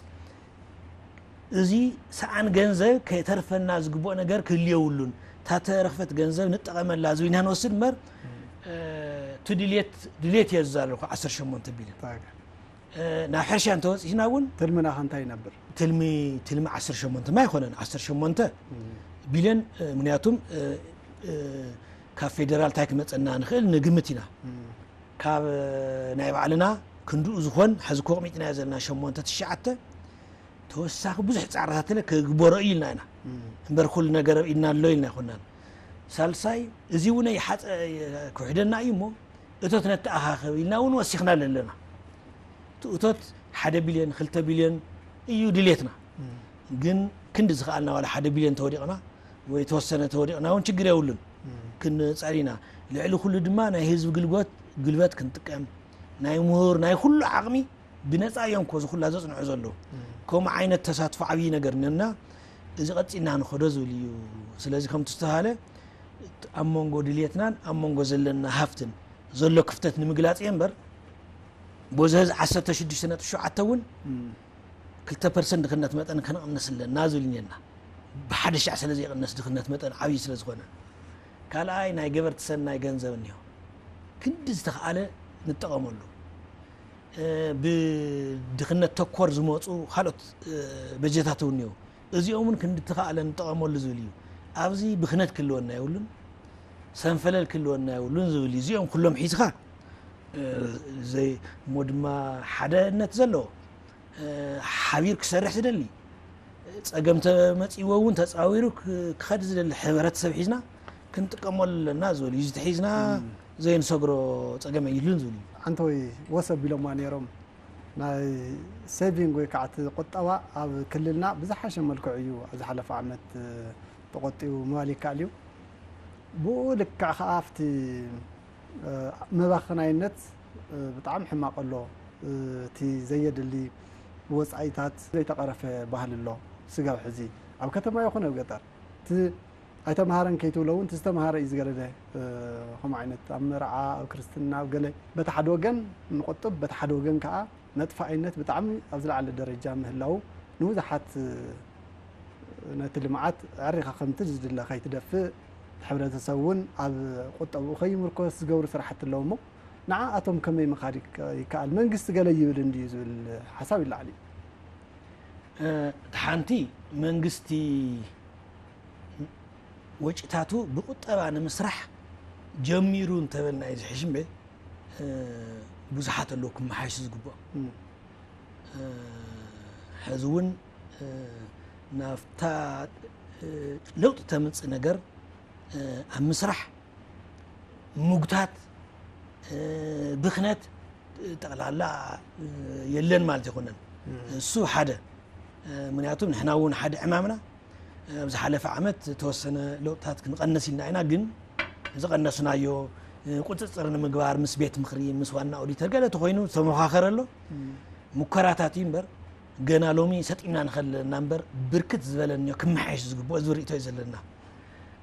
እዚ ሰኣን ገንዘብ ከተርፈና ዝግብኦ ነገር ክህልየውሉን፣ እታ ተረኽፈት ገንዘብ ንጠቐመላ ዝብልና ንወስድ እምበር፣ እ፣ እቲ ድልየት ድልየት እየ ዝዛረብኩ። ዓሰርተ ሸሞንተ ቢልዮን ናብ ሕርሻ እንተወፂእና እውን ትልምና ከ እንታይ ይነብር? ትልሚ ትልሚ ዓሰርተ ሸሞንተ ማ ኣይኮነን። ዓሰርተ ሸሞንተ ቢልዮን፣ ምክንያቱም ካብ ፌደራል እንታይ ክመፀና ንኽእል ንግምት ኢና። ካብ ናይ ባዕልና ክንድኡ ዝኾን ሕዚ ኮቕሚጥናዮ ዘለና ሸሞንተ ትሽዓተ ተወሳኺ ብዙሕ ፃዕርታት ለ ክግበሮ እዩ ኢልና ኢና። እምበር ኩሉ ነገር ኣብ ኢድና ኣሎ ኢልና ኣይኮናን። ሳልሳይ እዚ እውን ይሓፀ ክውሕደና እዩ እሞ እቶት ነተኣኻኸብ ኢልና እውን ወሲኽና ኣለና። እቲ እቶት ሓደ ቢልዮን ክልተ ቢልዮን እዩ ድሌትና። ግን ክንዲ ዝኸኣልና ዋላ ሓደ ቢልዮን ተወዲቕና ወይ ተወሰነ ተወዲቕና እውን ችግር የብሉን። ክንጸር ኢና። ልዕሊ ኩሉ ድማ ናይ ህዝቢ ግልጎት ግልበት ክንጥቀም ናይ ምሁር ናይ ኩሉ ዓቕሚ ብነፃ እዮም ኮ ዝኩላ ዘፅንዑ ዘለዉ። ከምኡ ዓይነት ተሳትፎ ዓብዪ ነገር ነና እዚ ቀፂልና ንኸዶ ዝብል እዩ። ስለዚ ከምቲ ዝተባሃለ ኣብ መንጎ ድልየትናን ኣብ መንጎ ዘለና ሃፍትን ዘሎ ክፍተት ንምግላፅ እየ እምበር በዚ ህዚ ዓሰርተ ሽዱሽተ ነጥቢ ሸውዓተ እውን ክልተ ፐርሰንት ድኽነት መጠን ከነቕንስ ኣለና ዝብል እኒአና። ብሓደ ሻዕ ስለ ዘይቕነስ ድኽነት መጠን ዓብዪ ስለ ዝኾነ። ካልኣይ ናይ ገበርቲ ሰናይ ገንዘብ እኒሆ። ክንዲ ዝተኽኣለ ንጠቐመሉ። ብድኽነት ተኮር ዝመፁ ካልኦት በጀታት እውን እኒኦ። እዚኦም እውን ክንዲ ተኻእለ ንጠቐመሉ ዝብል እዩ። ኣብዚ ብኽነት ክህልወና የብሉን፣ ሰንፈለል ክህልወና የብሉን ዝብል እዩ። እዚኦም ኩሎም ሒዝካ ዘይ እሞ ድማ ሓደነት ዘለዎ ሓቢር ክሰርሕ ዝደሊ ጸገም ተመጺዎ እውን ተጻዊሩ ክኸድ ዝደሊ ሕብረተሰብ ሒዝና ክንጥቀመሉ ኣለና ዝብል እዩ። ዝተሒዝና ዘይንሰግሮ ጸገም የብሉን ዝብል እዩ። ኣንተ ወይ ወሰብ ቢሎማ ነይሮም ናይ ሴቪንግ ወይ ከዓ እቲ ቁጠባ ኣብ ክልልና ብዝሓሸ መልክዑ እዩ ኣብ ዝሓለፈ ዓመት ተቆጢቡ ምባል ይከኣል እዩ። ብኡ ልክዕ ከዓ ኣብቲ መባኸናይነት ብጣዕሚ ሕማቕ ኣሎ። እቲ ዘየድሊ ወፃኢታት ዘይተቐረፈ ባህሊ ኣሎ። ስጋብ ሕዚ ኣብ ከተማ ይኹን ኣብ ገጠር እቲ ኣይተምሃረን ከይትብሎ እውን እቲ ዝተምሃረ እዩ ዝገደደ። ከምኡ ዓይነት ኣብ መርዓ ኣብ ክርስትና ኣብ ገለ በቲ ሓደ ወገን ንቁጥብ በቲ ሓደ ወገን ከዓ መጥፋኢነት ብጣዕሚ ኣብ ዝለዓለ ደረጃ ምህላው ንብዙሓት ነቲ ልምዓት ኣዕሪኻ ከምቲ ዝድለ ከይትደፍእ እቲ ሕብረተሰብ እውን ኣብ ቁጠብኡ ከይምርኮስ ዝገብሩ ስራሕቲ ኣለዉ እሞ ንዓኣቶም ከመይ ምኻድ ይከኣል መንግስቲ ገለ ይብል እንድዩ ዝብል ሓሳብ ይለዓል እዩ። እቲ ሓንቲ መንግስቲ ወጪታቱ ብቁጠባ ንምስራሕ ጀሚሩ እንተበልና እዩ ዝሕሽ እምበ ብዙሓት ኣለዉ ክመሓየሹ ዝግብኦም። ሕዚ እውን ናብታ ለውጢ ተምፅእ ነገር ኣብ ምስራሕ ምጉታት ብኽነት ጠቕላላ የለን ማለት ኣይኮነን። እሱ ሓደ ምክንያቱም ንሕና እውን ሓደ ዕማምና ኣብ ዝሓለፈ ዓመት ዝተወሰነ ለውጥታት ክንቐንስ ኢልና ኢና፣ ግን ዝቐነስናዮ ቁፅፅር ንምግባር ምስ ቤት ምኽሪ ምስ ዋና ኦዲተር ገለ ተኮይኑ ዝተመኻኸረ ኣሎ። ሙከራታት እዩ እምበር ገና ሎሚ ሰጢምና ንኸለና እምበር ብርክት ዝበለ እኒኦ ክመሓየሽ ዝግብኦ ዝብል ርእቶ እዩ ዘለና።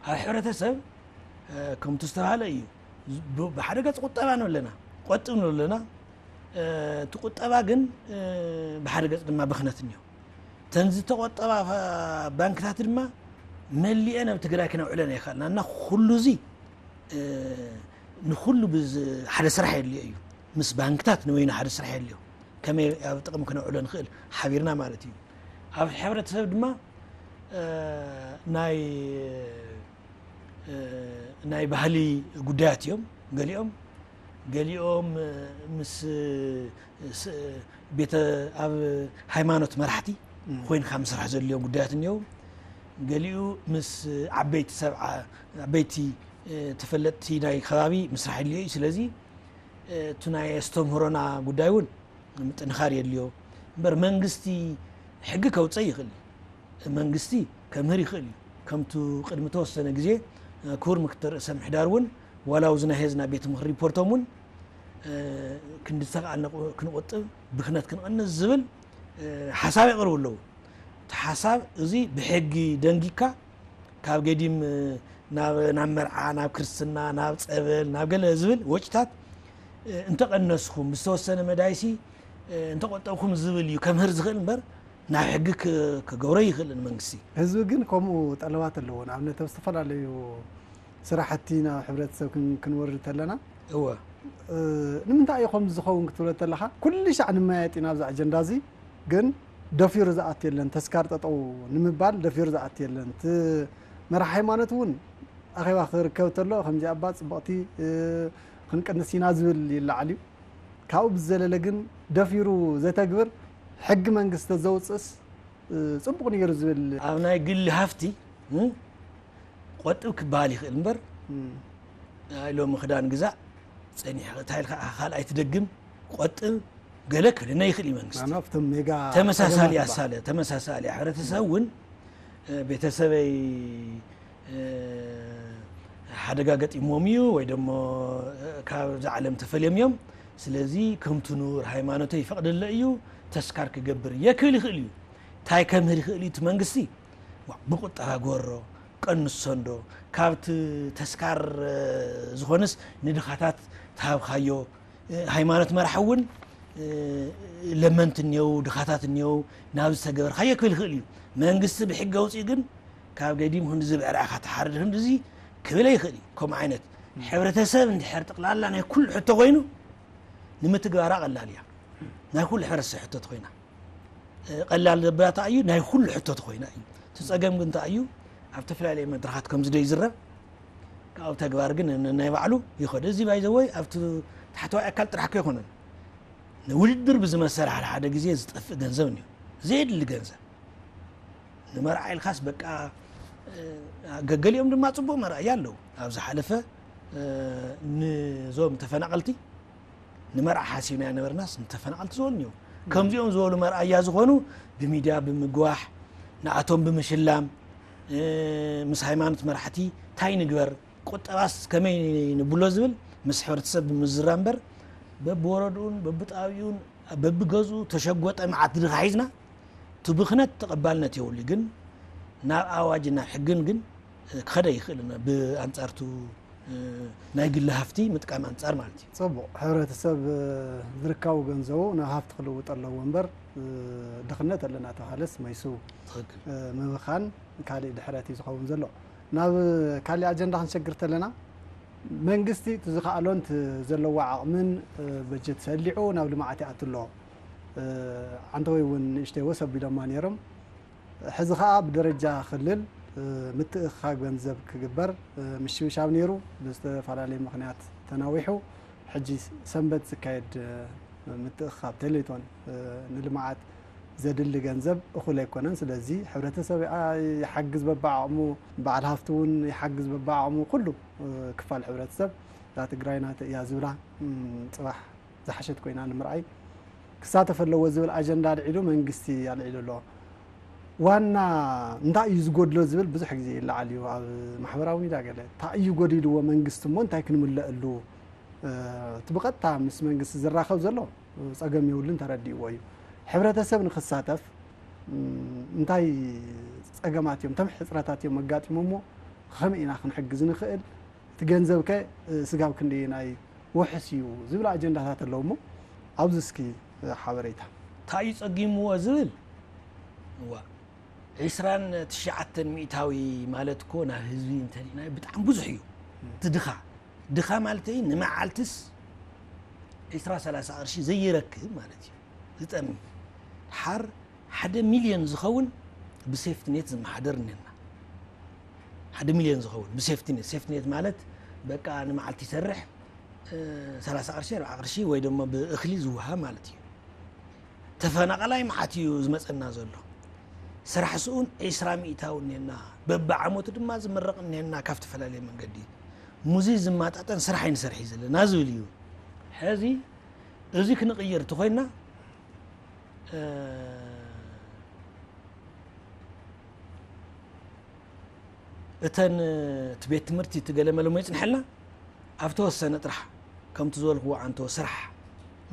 ኣብ ሕብረተሰብ ከምቲ ዝተባሃለ እዩ። ብሓደ ገፅ ቁጠባ ንብለና ቆጥብ ንብለና እቲ ቁጠባ ግን ብሓደ ገፅ ድማ ብኽነት እኒኦ። እተን ዝተቆጠባ ባንክታት ድማ መሊኤን ኣብ ትግራይ ክነውዕለን ኣይከኣልና እና ኩሉ እዚ ንኩሉ ሓደ ስራሕ የድልዮ እዩ። ምስ ባንክታት ንበይኑ ሓደ ስራሕ የድልዮ። ከመይ ኣብ ጥቕሚ ክነውዕሎ ንኽእል ሓቢርና ማለት እዩ። ኣብ ሕብረተሰብ ድማ ናይ ናይ ባህሊ ጉዳያት እዮም። ገሊኦም ገሊኦም ምስ ቤተ ኣብ ሃይማኖት መራሕቲ ኮይንካ ምስራሕ ዘድልዮም ጉዳያት እኒኦ። ገሊኡ ምስ ዓበይቲ ሰብ ዓበይቲ ተፈለጥቲ ናይ ከባቢ ምስራሕ የድልዮ እዩ። ስለዚ እቲ ናይ ኣስተምህሮና ጉዳይ እውን ምጥንኻር የድልዮ። እምበር መንግስቲ ሕጊ ከውፀእ ይኽእል እዩ። መንግስቲ ከምህር ይኽእል እዩ። ከምቱ ቅድሚ ተወሰነ ግዜ ክቡር ምክትል ርእሰ ምሕዳር እውን ዋላ ኣብዚ ናይ ሄዝና ቤት ምኽሪ ሪፖርቶም እውን ክንዲ ዝተኽኣልና ክንቆጥብ ብክነት ክንቐንስ ዝብል ሓሳብ የቕርቡ ኣለዉ። እቲ ሓሳብ እዚ ብሕጊ ደንጊካ ካብ ገዲም ናብ ናብ መርዓ ናብ ክርስትና ናብ ፀበል ናብ ገለ ዝብል ወጪታት እንተቐነስኩም ብዝተወሰነ መዳይሲ እንተቆጠብኩም ዝብል እዩ ከምህር ዝኽእል እምበር ናብ ሕጊ ክገብሮ ይኽእል መንግስቲ። ህዝቢ ግን ከምኡ ጠለባት ኣለዎ። ንኣብነት ኣብ ዝተፈላለዩ ስራሕቲ ናብ ሕብረተሰብ ክንወርድ ተለና እወ ንምንታይ እዩ ከምዚ ዝኸውን ክትብሎ ተለኻ ኩሉ ሻዕ ንመያየጥ ኢና ኣብዚ ኣጀንዳ እዚ ግን ደፊሩ ዝኣት የለን ተስካር ጠጠው ንምባል ደፊሩ ዝኣት የለን እቲ መራሕ ሃይማኖት እውን ኣኼባ ክርከብ ተሎ ከምዚ ኣባ ፅብቕቲ ክንቅንስ ኢና ዝብል ይለዓል እዩ ካብኡ ብዘለለ ግን ደፊሩ ዘተግብር ሕጊ መንግስቲ ዘውፅእስ ፅቡቕ ነይሩ ዝብል ኣብ ናይ ግሊ ሃፍቲ ቆጥብ ክበሃል ይኽእል እምበር ኣይ ሎሚ ክዳን ግዛእ ፀኒሕ እንታይ ኢልካ ካልኣይ ትደግም ቆጥብ ገለ ክልነ ይኽእል እዩ መንግስቲ ኣና ኣብቶም ሜጋ ተመሳሳሊ ኣሳለ ተመሳሳሊ ሕብረተሰብ እውን ቤተሰበይ ሓደጋ ገጢሞም እዩ ወይ ደሞ ካብዚ ዓለም ተፈልዮም እዮም ስለዚ ከምቲ ኑር ሃይማኖተይ ይፈቕደለ እዩ ተስካር ክገብር እየ ክብል ይኽእል እዩ እንታይ ከምህር ይኽእል እዩ እቲ መንግስቲ ብቁጠባ ጎሮ ቀንሶ እንዶ ካብቲ ተስካር ዝኾንስ ንድኻታት ተሃብካዮ ሃይማኖት መራሕ እውን ለመንቲ እኒው ድኻታት እኒው ናብ ዝተገበርካዮ ክብል ይኽእል እዩ መንግስቲ ብሕጊ ኣውፅኡ ግን ካብ ገዲም ክንዲ ዝብዕር ኢኻ ትሓርድ ክንዲ እዚ ክብል ይኽእል እዩ ከምኡ ዓይነት ሕብረተሰብ እንድሕር ጠቕላላ ናይ ኩሉ ሕቶ ኮይኑ ንምትግባራ ቀላል እያ ናይ ኩሉ ሕብረተሰብ ሕቶ ተኮይና ቀላል ዘበላታ እዩ ናይ ኩሉ ሕቶ ተኮይና እዩ እቲ ፀገም ግን እንታይ እዩ ኣብ ተፈላለየ መድረኻት ከምዚ ዶ ይዝረብ ካብኡ ተግባር ግን ናይ ባዕሉ ይኸዱ እዚ ባይዘወይ ኣብቲ ታሕተዋይ ኣካል ጥራሕ ከይኮነን ንውድድር ብዝመሰል ሓደ ሓደ ግዜ ዝጠፍእ ገንዘብ እኒኦ ዘየድሊ ገንዘብ ንመርዓ ኢልካስ በቃ ገገሊኦም ድማ ፅቡቅ መርኣያ ኣለዉ ኣብ ዝሓለፈ ንዞም ተፈናቀልቲ ንመርዓ ሓሲብና ነበርናስ ንተፈናቀልቲ ዝበሉ እኒኦ ከምዚኦም ዝበሉ መርኣያ ዝኾኑ ብሚድያ ብምግዋሕ ንኣቶም ብምሽላም ምስ ሃይማኖት መራሕቲ እንታይ ንግበር ቁጠባስ ከመይ ንብሎ ዝብል ምስ ሕብረተሰብ ብምዝራ እምበር በብወረድኡን በብጣቢኡን በብገዝኡ ተሸጎጠ መዓት ድኻ ሒዝና እቲ ብኽነት ተቐባልነት የብሉ ግን ናብ ኣዋጅ ናብ ሕግን ግን ክኸደ ይኽእል ብኣንጻርቱ ናይ ግሊ ሃፍቲ ምጥቃም ኣንጻር ማለት እዩ። ጽቡቕ፣ ሕብረተሰብ ዝርካቡ ገንዘቡ ናብ ሃፍቲ ክልውጥ ኣለዎ እምበር ድኽነት ኣለና ተባሃለስ መይሱ ምብኻን ካልእ ድሕረት እዩ ዝኸውን ዘሎ። ናብ ካልእ ኣጀንዳ ክንሸግር ተለና መንግስቲ እቲ ዝኸኣሎን እቲ ዘለዎ ዓቕምን በጀት ሰሊዑ ናብ ልምዓት ይኣቱ ኣሎ። ዓንተወይ እውን ንእሽተይ ወስ ኣቢሎማ ነይሮም። ሕዚ ከዓ ብደረጃ ክልል ምትእኽኻብ ገንዘብ ክግበር ምሽብሻብ ነይሩ ብዝተፈላለየ ምኽንያት ተናዊሑ ሕጂ ሰንበት ዝካየድ ምትእኽኻብ ቴሌቶን ንልምዓት ዘድሊ ገንዘብ እኹል ኣይኮነን ስለዚ ሕብረተሰብ ይሓግዝ በብዓቕሙ በዓል ሃፍቲ እውን ይሓግዝ በብዓቕሙ ኩሉ ክፋል ሕብረተሰብ እዛ ትግራይ ናተ እያ ዝብላ ፅባሕ ዝሓሸት ኮይና ንምርኣይ ክሳተፍ ኣለዎ ዝብል ኣጀንዳ ኣልዒሉ መንግስቲ ኣልዒሉ ኣሎ። ዋና እንታይ እዩ ዝጎድሎ ዝብል ብዙሕ ግዜ ይለዓል እዩ ኣብ ማሕበራዊ ሚድያ ገለ እንታይ እዩ ጎዲልዎ መንግስቲ እሞ እንታይ ክንምለአሉ እቲ ብቐጥታ ምስ መንግስቲ ዝራኸብ ዘሎ ፀገም የብሉን ተረዲእዎ እዩ። ሕብረተሰብ ንክሳተፍ እንታይ ፀገማት እዮም፣ እንታይ ሕፅረታት እዮም ኣጋጢሞሞ፣ ከመይ ኢና ክንሕግዝ ንኽእል፣ እቲ ገንዘብ ከ ስጋብ ክንደየናይ ውሕስ እዩ ዝብል ኣጀንዳታት ኣለዉ እሞ ኣብዚ እስኪ ሓበሬታ። እንታይ እዩ ፀጊምዎ ዝብል እዋ ዒስራን ትሽዓተን ሚእታዊ ማለት እኮ ናብ ህዝቢ እንተሪእናዮ ብጣዕሚ ብዙሕ እዩ። እቲ ድኻ ድኻ ማለተይ ንመዓልትስ ዒስራ ሰላሳ ቅርሺ ዘይረክብ ማለት እዩ። ዝጠሚ ድሓር ሓደ ሚልዮን ዝኸውን ብሴፍትኔት ዝመሓደር እኒና ሓደ ሚልዮን ዝኸውን ብሴፍትኔት ሴፍትኔት ማለት በቃ ንመዓልቲ ይሰርሕ ሰላሳ ቅርሺ ኣርባዓ ቅርሺ ወይ ደሞ ብእኽሊ ዝወሃብ ማለት እዩ ተፈናቐላይ መዓት እዩ ዝመፀና ዘሎ ስራሕ ስኡን ዒስራ ሚእታዊ እኒና በብዓመቱ ድማ ዝምረቕ እኒና ካብ ዝተፈላለየ መንገዲ ሙዚ ዝማጣጠን ስራሕ ኣይንሰርሒ ዘለና ዝብል እዩ ሕዚ እዚ ክንቕይር እንተኾይና፣ እ፣ እተን፣ እቲ ቤት ትምህርቲ፣ እቲ ገለመለ እሞ ይጽንሐልና፣ ኣብ ተወሰነ ጥራሕ፣ ከምቲ ዝበልክዎ ኣንቶ፣ ስራሕ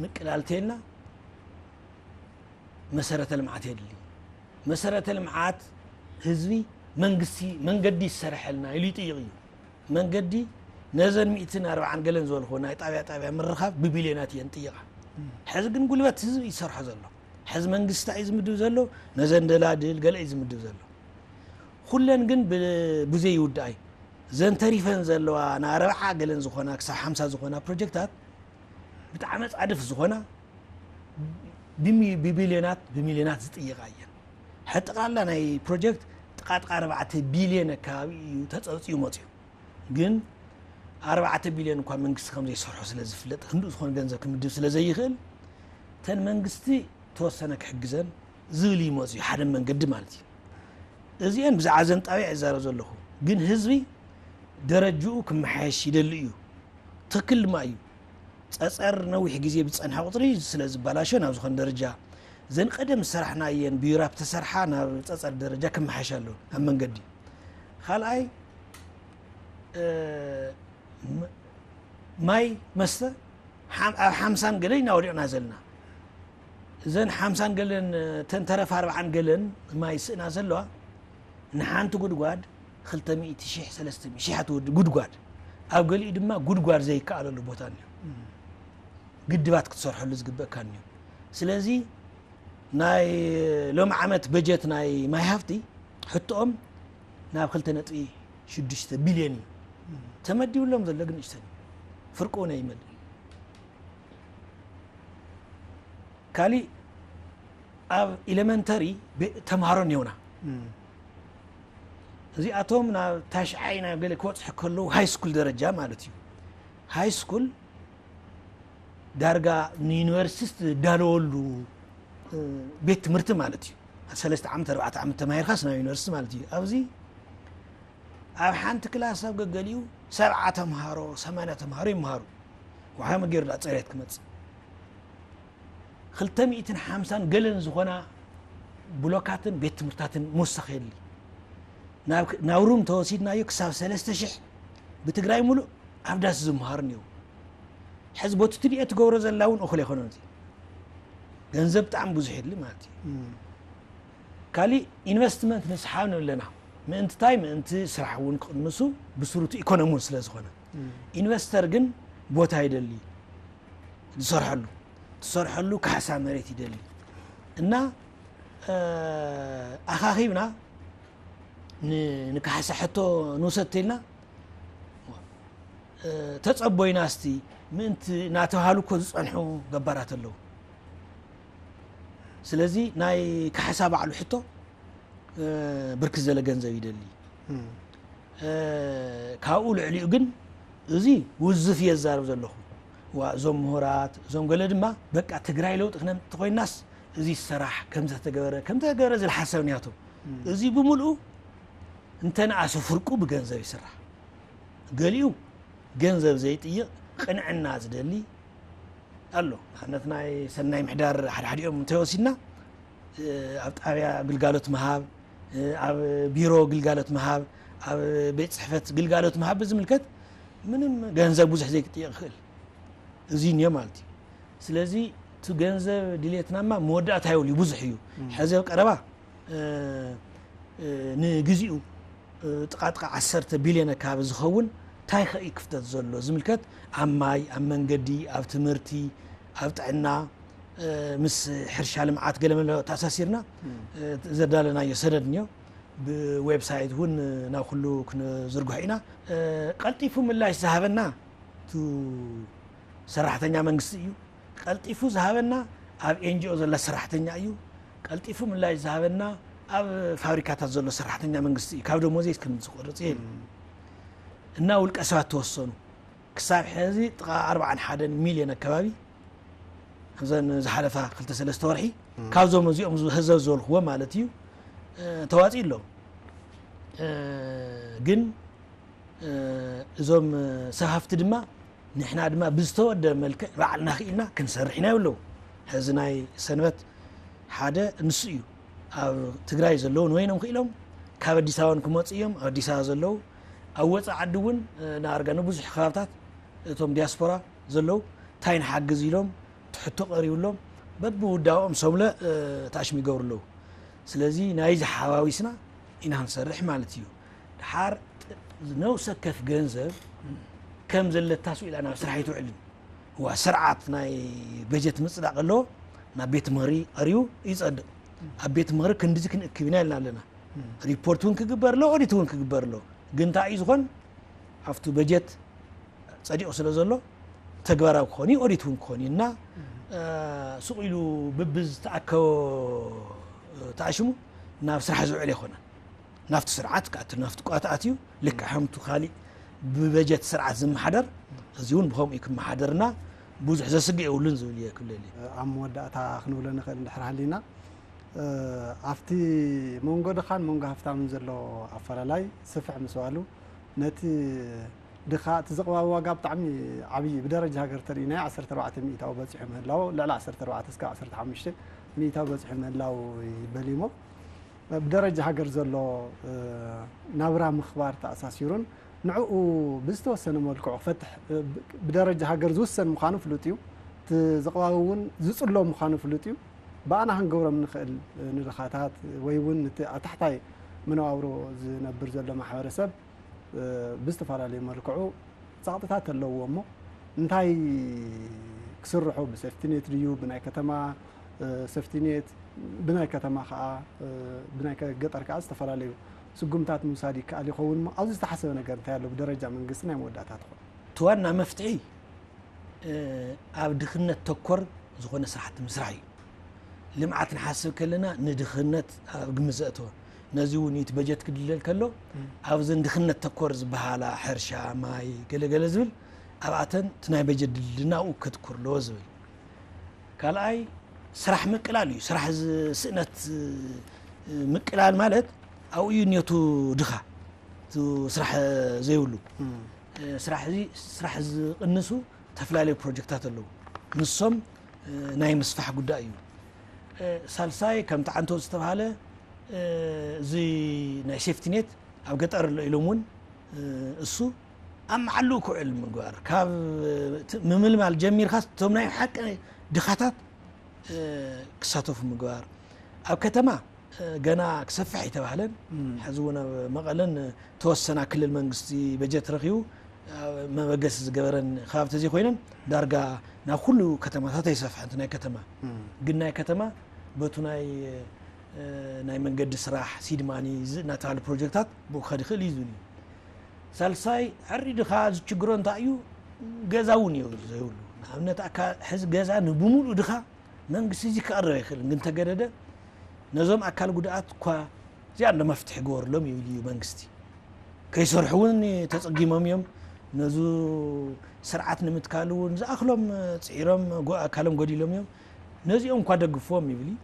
ምቅላል ተይልና፣ መሰረተ ልምዓት የድሊ። መሰረተ ልምዓት ህዝቢ፣ መንግስቲ መንገዲ ይሰርሐልና ኢሉ ይጥይቕ እዩ። መንገዲ፣ ነዘን ሚእትን ኣርባዓን ገለን ዝበልክዎ ናይ ጣብያ ጣብያ ምርኻብ ብቢልዮናት እየን ጥይቓ። ሕዚ ግን ጉልበት ህዝቢ ይሰርሖ ዘሎ። ሕዚ መንግስቲ እንታይ እዩ ዝምድብ ዘሎ? ነዘን ደላድል ገለ እዩ ዝምድብ ዘሎ። ኩለን ግን ብ-፣ ብዘይ ይውድኣ እዩ። ዘን ተሪፈን ዘለዋ ንኣርብዓ ገለን ዝኾና ክሳብ ሓምሳ ዝኾና ፕሮጀክታት ብጣዕሚ ጻድፍ ዝኾና ብሚ-፣ ብቢልዮናት፣ ብሚልዮናት ዝጥይቓ እየን። ሕዚ ጠቕላላ ናይ ፕሮጀክት ጥቓ ጥቓ ኣርባዕተ ቢልዮን ኣካባቢ እዩ ተጸብጺቡ መጺኡ። ግን ኣርባዕተ ቢልዮን እኳ መንግስቲ ከም ዘይሰርሖ ስለ ዝፍለጥ፣ ክንድኡ ዝኾነ ገንዘብ ክምድብ ስለ ዘይኽእል፣ እተን መንግስቲ ተወሰነ ክሕግዘን ዝብል እዩ መጺኡ፣ ሓደ መንገዲ ማለት እዩ። እዚአን ብዛዕባ ዘን ጣብያ ይዛረብ ዘለኹ። ግን ህዝቢ ደረጅኡ ክመሓየሽ ይደሊ እዩ። ትኽክል ድማ እዩ። ጸጸር ነዊሕ ግዜ ብዝጸንሐ ቁጽሪ ስለ ዝበላሾ ናብ ዝኾነ ደረጃ፣ ዘን ቀደም ዝሰራሕናየን ብዩራፕ ተሰርሓ ናብ ጸጸር ደረጃ ክመሓየሽ ኣለዎ ኣብ መንገዲ። ካልኣይ፣ እ፣ ም-፣ ማይ መስተ ሓም-፣ ኣብ ሓምሳን ገለን ኢና ወዲቕና ዘለና። እዘን ሓምሳን ገለን፣ እተን ተረፍ ኣርብዓን ገለን ማይ ስእና ዘለዋ፣ ንሓንቲ ጉድጓድ ክልተ ሚእቲ ሺሕ፣ ሰለስተ ሚእቲ ሺሕ እያ ትወዲ ጉድጓድ። ኣብ ገሊኡ ድማ ጉድጓድ ዘይከኣለሉ ቦታ እኒኦ። ግድባት ክትሰርሐሉ ዝግበእካ እኒኦ። ስለዚ ናይ ሎም ዓመት በጀት ናይ ማይ ሃፍቲ ሕቶኦም ናብ ክልተ ነጥቢ ሽዱሽተ ቢልዮን እዩ ተመዲብሎም ዘሎ፣ ግን ንእሽተን እዩ። ፍርቁ እውን ኣይመልእን። ካሊእ ኣብ ኢለመንተሪ ቤ-፣ ተምሃሮ እኒኦና። እም። እዚኣቶም ናብ ታሽዓይ ናብ ገለ ክበጽሑ ከለዉ ሃይ ስኩል ደረጃ ማለት እዩ። ሃይ ስኩል ዳርጋ ንዩኒቨርሲቲ ዝዳለወሉ፣ እ፣ ቤት ትምህርቲ ማለት እዩ። ሰለስተ ዓመት፣ ኣርባዕተ ዓመት ተማሂርካስ ናብ ዩኒቨርሲቲ ማለት እዩ። ኣብዚ ኣብ ሓንቲ ክላስ ኣብ ገገሊኡ ሰብዓ ተምሃሮ፣ ሰማንያ ተምሃሮ ይምሃሩ። ወሓመ ገይሩ ዳ ጽሬት ክመጽእ። ክልተ ሚእትን ሓምሳን ገለን ዝኾና ብሎካትን ቤት ትምህርታትን ምውሳኽ የድሊ። ናብ፣ ናብ ሩም ተወሲድናዮ ክሳብ ሰለስተ ሽሕ ብትግራይ ሙሉእ ኣብ ዳስ ዝምሃሩ እኒአው። ሕዚ ቦቲ ትድዮ ትገብሮ ዘላ እውን እኹል ኣይኮነን። እዚ ገንዘብ ብጣዕሚ ብዙሕ የድሊ ማለት እዩ። እም። ካሊእ ኢንቨስትመንት ንስሓብ ንብል ኣለና። ምእንቲ ታይ? ምእንቲ ስራሕ እውን ክቕንሱ፣ ብስሩቱ ኢኮኖሚ እውን ስለ ዝኾነ። እም። ኢንቨስተር ግን ቦታ ይደሊ። ዝሰርሐሉ፣ ዝሰርሐሉ ካሕሳ መሬት ይደሊ። እና፣ እ፣ ኣኻኺብና ን-፣ ንካሕሳ ሕቶ ንውሰድ ተይልና፣ እ፣ ተጸቦይና እስቲ ምእንቲ እናተባሃሉ እኮ ዝጸንሑ ገባራት ኣለዉ። ስለዚ ናይ ካሕሳ ባዕሉ ሕቶ፣ እ፣ ብርክት ዘለ ገንዘብ ይደሊ። እም። እ፣ ካብኡ ልዕሊኡ ግን እዚ ውዝፍ እየ ዝዛረብ ዘለኹ። ዋ፣ እዞም ምሁራት፣ እዞም ገለ ድማ በቃ ትግራይ ለውጢ ክነምጥ ተኾይናስ እዚ ይሰራሕ፣ ከምዚ ተገበረ፣ ከምዚ ተገበረ ዝብል ሓሳብ እኒኣቶም። እም። እዚ ብምልኡ እንተነኣሰ ፍርቁ ብገንዘብ ይስራሕ። ገሊኡ ገንዘብ ዘይጥይቕ ቅንዕና ዝደሊ ኣሎ። ንኣብነት ናይ ሰናይ ምሕዳር ሓደ ሓዲኦም እንተወሲድና፣ እ፣ ኣብ ጣብያ ግልጋሎት ምሃብ፣ እ፣ ኣብ ቢሮ ግልጋሎት ምሃብ፣ ኣብ ቤት ጽሕፈት ግልጋሎት ምሃብ ብዝምልከት ምንም ገንዘብ ብዙሕ ዘይክጥየቕ ይኽእል። እዚ እኒኦ ማለት እዩ። ስለዚ እቲ ገንዘብ ድሌትናማ መወዳእታ የብሉ፣ ብዙሕ እዩ። እም። ሕዚ ኣብ ቀረባ፣ እ፣ እ፣ ንግዚኡ፣ እ፣ ጥቓ ጥቓ ዓሰርተ ቢልዮን ኣካባቢ ዝኸውን እንታይ ከ እዩ ክፍተት ዘሎ ዝምልከት ኣብ ማይ፣ ኣብ መንገዲ፣ ኣብ ትምህርቲ፣ ኣብ ጥዕና፣ እ፣ ምስ ሕርሻ ልምዓት ገለ መለ ተኣሳሲርና፣ እም። እ፣ ዘዳለናዮ ሰነድ እኒኦ። ብዌብሳይት እውን ናብ ኩሉ ክንዝርግሖ ኢና። እ፣ ቀልጢፉ ምላሽ ዝሃበና እቱ ሰራሕተኛ መንግስቲ እዩ። ቀልጢፉ ዝሃበና ኣብ ኤንጂኦ ዘሎ ሰራሕተኛ እዩ። ቀልጢፉ ምላሽ ዝሃበና ኣብ ፋብሪካታት ዘሎ ሰራሕተኛ መንግስቲ እዩ። ካብ ደሞዘይ ከም ዝቆርጽ እየ። እም። እና ውልቀ ሰባት ተወሰኑ። ክሳብ ሕዚ ጥቓ ኣርባዓን ሓደን ሚልዮን ኣካባቢ ኣብዘን ዝሓለፋ ክልተ ሰለስተ ወርሒ እም። ካብዞም እዚኦም ዝ-፣ ህዘብ ዝበልክዎ ማለት እዩ፣ እ፣ ተዋፂኡ ኣሎ። እ፣ ግን፣ እ፣ እዞም፣ እ፣ ሰብ ሃፍቲ ድማ ንሕና ድማ ብዝተወደ መልክዕ ባዕልና ክኢልና ክንሰርሕ ኢና ይብለዉ። ሕዚ ናይ ሰንበት ሓደ ንሱ እዩ። ኣብ ትግራይ ዘለዉ ንበይኖም ክኢሎም ካብ ኣዲስ ኣበባ ክመፁ እዮም። ኣብ ኣዲስ ኣበባ ዘለዉ ኣብ ወፃኢ ዓዲ እውን ንኣርጋ ንብዙሕ ከባብታት እቶም ዲያስፖራ ዘለዉ እንታይ ንሓግዝ ኢሎም ትሕቶ ቀሪብሎም በብውዳኦም ሰብለ ታሽም ይገብሩ ኣለዉ። ስለዚ ናይዚ ሓዋዊስና ኢና ክንሰርሕ ማለት እዩ። ድሓር ነብሰ ከፍ ገንዘብ ከም ዘለታ ስኢላ ናብ ስራሕ ኣይትውዕልን። እዋ ስርዓት ናይ በጀት ምፅዳቕ ኣለዎ። ናብ ቤት ምኽሪ ቀሪቡ ይፀድቕ። ኣብ ቤት ምኽሪ ክንድዚ ክንእክብ ኢና ኢልና ኣለና። ሪፖርት እውን ክግበር ኣሎ፣ ኦዲት እውን ክግበር ኣሎ። ግን እንታይ እዩ ዝኾን ኣብቲ በጀት ፀዲቑ ስለ ዘሎ ተግባራዊ ክኾን እዩ፣ ኦዲት እውን ክኾን እዩ እና እ፣ ስቕ ኢሉ ብብዝተኣከቦ ተኣሽሙ ናብ ስራሕ ዝውዕል ኣይኮነን። ናብቲ ስርዓት ክኣትል ናብቲ ቋት ኣትዩ ልክዕ ከምቱ ካሊእ ብበጀት ስርዓት ዝመሓደር እዚ እውን ብኸምኡ ክመሓደርና ብዙሕ ዘስግእ የብሉን ዝብል እየ ክብለል እየ። ኣብ መወዳእታ ክንብሎ ንኽእል እንድሕር ሃሊና እ፣ ኣብቲ መንጎ ድኻን መንጎ ሃፍታምን ዘሎ ኣፈላላይ ስፍሕ ምስ በሉ ነቲ ድኻ እቲ ዝቕባብ ዋጋ ብጣዕሚ ዓብዪ ብደረጃ ሃገር ተሪእናዮ ዓሰርተ ኣርባዕተ ሚእታዊ በፂሑ ምህላው ልዕሊ ዓሰርተ ኣርባዕተ እስካብ ዓሰርተ ሓሙሽተ ሚእታዊ በፂሑ ምህላው ይበል እሞ ብደረጃ ሃገር ዘሎ እ፣ ናብራ ምኽባር ተኣሳሲሩን ንዕኡ ብዝተወሰነ መልክዑ ክፈትሕ እ፣ ብ- ብደረጃ ሃገር ዝውሰን ምዃኑ ፍሉጥ እዩ። እቲ ዝቕባብ እውን ዝፅሎ ምዃኑ ፍሉጥ እዩ። ብኣና ክንገብሮም ንኽእል እ፣ ንድኻታት ወይ እውን እቲ ኣብ ታሕታይ መነባብሮ ዝነብር ዘሎ ማሕበረሰብ እ፣ ብዝተፈላለዩ መልክዑ ፃቕጥታት ኣለዎ እሞ እንታይ ክስርሑ ብሴፍቲኔት ድዩ ብናይ ከተማ እ፣ ሴፍቲኔት ብናይ ከተማ ከዓ እ፣ ብናይ ከ- ገጠር ከዓ ዝተፈላለዩ ስጉምታት ምውሳድ ይከኣል ይኸውን እሞ ኣብዚ ዝተሓሰበ ነገር እንታይ ኣሎ ብደረጃ መንግስቲ ናይ መወዳእታ ትኾን እቲ ዋና መፍትሒ እ፣ ኣብ ድኽነት ተኮር ዝኾነ ስራሕቲ ምስራሕ እዩ። ልምዓት ንሓስብ ከለና ንድኽነት ኣብ ግምት ዘእተወ ነዚ እውን እቲ በጀት ክድለል ከሎ ኣብዘን ድኽነት ተኮር ዝበሃላ ሕርሻ ማይ ገለገለ ዝብል ኣብኣተን እቲ ናይ በጀት ድልድልና ኣብኡ ከትኩር ኣለዎ ዝብል ካልኣይ ስራሕ ምቅላል እዩ። ስራሕ ዝ- ስእነት እ፣ ምቅላል ማለት ኣብኡ እዩ እኒኦቱ ድኻ እቲ ስራሕ ዘይብሉ እ፣ ስራሕ እዚ ስራሕ ዝቕንሱ ዝተፈላለዩ ፕሮጀክታት ኣለዉ። ንሶም እ፣ ናይ ምስፋሕ ጉዳይ እዩ። እ፣ ሳልሳይ ከምቲ ዓንቶ ዝተባሃለ እ፣ እዚ ናይ ሴፍቲኔት ኣብ ገጠር ኣሎ ኢሎም እውን እ፣ እሱ ኣብ መዓልኡ ክውዕል ምግባር ካብ እ፣ ት- ምምልማል ጀሚርካ እቶም ናይ ሓቂ ድኻታት እ፣ ክሳተፉ ምግባር ኣብ ከተማ እ፣ ገና ክሰፍሕ ኣይተባህለን። ሕዚ እውን ኣብ መቐለን ተወሰና ክልል መንግስቲ በጀት ረኺቡ ኣብ መበገሲ ዝገበረን ከባቢ ተዘይኮይነን ዳርጋ ናብ ኩሉ ከተማታት ኣይሰፍሐን። እቲ ናይ ከተማ ግን ናይ ከተማ በቱ ናይ እ፣ ናይ መንገዲ ስራሕ ሲድማኒ ዝ- እናተባሃሉ ፕሮጀክታት ብኡ ክኸድ ይኽእል እዩ ዝብል እዩ። ሳልሳይ ሕሪ ድኻ ዝችግሮ እንታይ እዩ? ገዛ እውን እዩ ዘይብሉ። ንኣብነት ኣካ ሕዚ ገዛ ንብሙሉእ ድኻ መንግስቲ እዚ ክቐርብ ኣይኽእልን ግን ተገደደ ነዞም ኣካል ጉድኣት እኳ እዚኣ እንደ መፍትሒ ግበርሎም ይብል እዩ መንግስቲ። ከይሰርሑ እውን ተፀጊሞም እዮም። ነዙ ስርዓት ንምትካል እውን ዝኣኽሎም ፅዒሮም ጎ- ኣካሎም ጎዲሎም እዮም። ነዚኦም እኳ ደግፍዎም ይብል እዩ።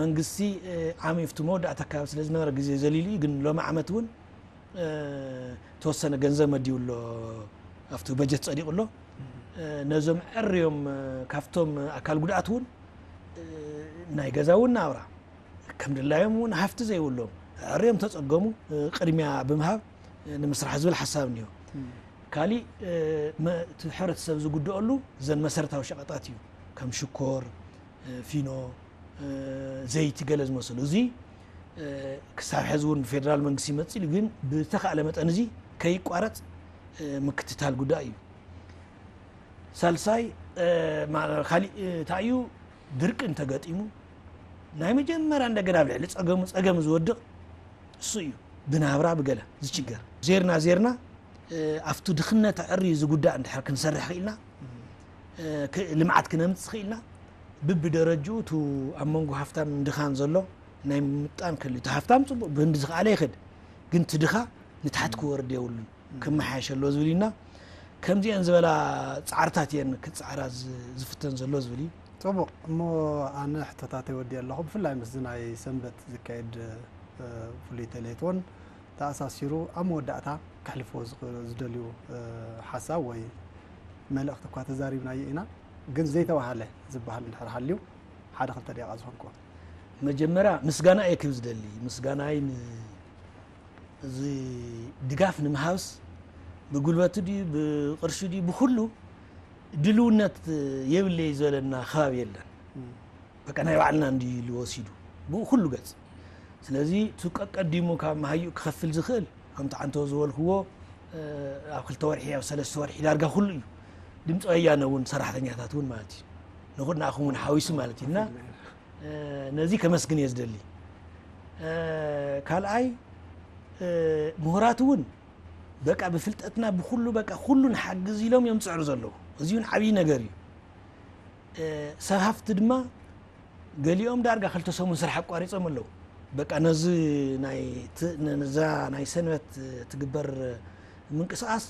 መንግስቲ እ፣ ዓሚ ኣብቲ መወዳእታ ኣካባቢ ስለ ዝነበረ ግዜ ዘሊሉ እዩ። ግን ሎሚ ዓመት እውን እ፣ ተወሰነ ገንዘብ መዲቡ ኣሎ ኣብቲ በጀት ፀዲቑ ኣሎ። እ፣ ነዞም ዕርዮም እ፣ ካብቶም ኣካል ጉድኣት እውን እ፣ ናይ ገዛ እውን ናብራ ከም ድላዮም እውን ሃፍቲ ዘይብሎም ዕርዮም ተፀገሙ እ፣ ቅድሚያ ብምሃብ እ፣ ንምስራሕ ዝብል ሓሳብ እኒኦ። ካሊእ እ፣ መ- እቲ ሕብረተሰብ ዝጉደአሉ ዘን መሰረታዊ ሸቐጣት እዩ ከም ሽኮር እ፣ ፊኖ እ፣ ዘይቲ ገለ ዝመሰሉ እዚ እ፣ ክሳብ ሕዚ እውን ብፌደራል መንግስቲ ይመፅእ ኢሉ ግን ብተኻእለ መጠን እዚ ከይቋረፅ እ፣ ምክትታል ጉዳይ እዩ። ሳልሳይ እ፣ ማ- ካሊእ እ፣ እንታይ እዩ ድርቂ እንተገጢሙ ናይ መጀመርያ እንደገና ኣብ ልዕሊ ፀገሙ ፀገም ዝወድቕ እሱ እዩ ብናብራ ብገለ ዝችገር ዜርና ዜርና እ፣ ኣብቱ ድኽነት ኣዕርዩ ዝጉዳእ እንድሕር ክንሰርሕ ክኢልና እ፣ ክ- ልምዓት ክነምፅእ ክኢልና ብብደረጅኡ እቱ ኣብ መንጎ ሃፍታም ድኻን ዘሎ ናይ ምጣን ክህሉ እቲ ሃፍታም ፅቡቅ ብህንዲ ዝኸኣለ ይኽድ ግን እቲ ድኻ ንታሕቲ ክወርድ የብሉን ክመሓየሽ ኣሎ ዝብል ኢና ከምዚአን ዝበላ ፃዕርታት እየን ክፃዕራ ዝ- ዝፍተን ዘሎ ዝብል እዩ ፅቡቕ እሞ ኣነ ሕቶታተይ ወዲ ኣለኹ ብፍላይ ምስዚ ናይ ሰንበት ዝካየድ እ፣ ፍሉይ ተሌት እውን ተኣሳሲሩ ኣብ መወዳእታ ከሕልፍዎ ዝኽ- ዝደልዩ እ፣ ሓሳብ ወይ መልእኽቲ እኳ ተዛሪብናዮ ኢና፣ ግን ዘይተባህለ ዝበሃል እንድሕር ሃልዩ ሓደ ክልተ ደቂቓ ዝኾንኩዎ። መጀመርያ ምስጋና እየ ክብ ዝደሊ። ምስጋናይ ን- እዚ ድጋፍ ንምሃብስ ብጉልበቱ ድዩ ብቅርሺ ድዩ ብኩሉ ድልውነት የብለይ ዝበለና ከባቢ የለን። በቃ ናይ ባዕልና እንዲ ኢሉ ወሲዱ ብኡ ኩሉ ገጽ። ስለዚ እቲ ቀቀዲሙ ካብ መሃይኡ ክኸፍል ዝኽእል ከምቲ ዓንተው ዝበልክዎ ኣብ ክልተ ወርሒ ኣብ ሰለስተ ወርሒ ዳርጋ ኩሉ እዩ። ድምፂ ወያነ እውን ሰራሕተኛታት እውን ማለት እዩ ንኹድናኹም እውን ሓዊሱ ማለት እዩ እና ነዚ ከመስግን እየ ዝደሊ። ካልኣይ ምሁራት እውን በቃ ብፍልጠትና ብኩሉ በቃ ኩሉ ንሓግዝ ኢሎም እዮም ዝፅዕሩ ዘለዉ። እዚ እውን ዓብዪ ነገር እዩ። ሰብ ሃፍቲ ድማ ገሊኦም ዳርጋ ክልተ ሰሙን ስራሕ ኣቋሪፆም ኣለዉ። በቃ ነዚ ናይ ት- ነዛ ናይ ሰንበት ትግበር ምንቅስቃስ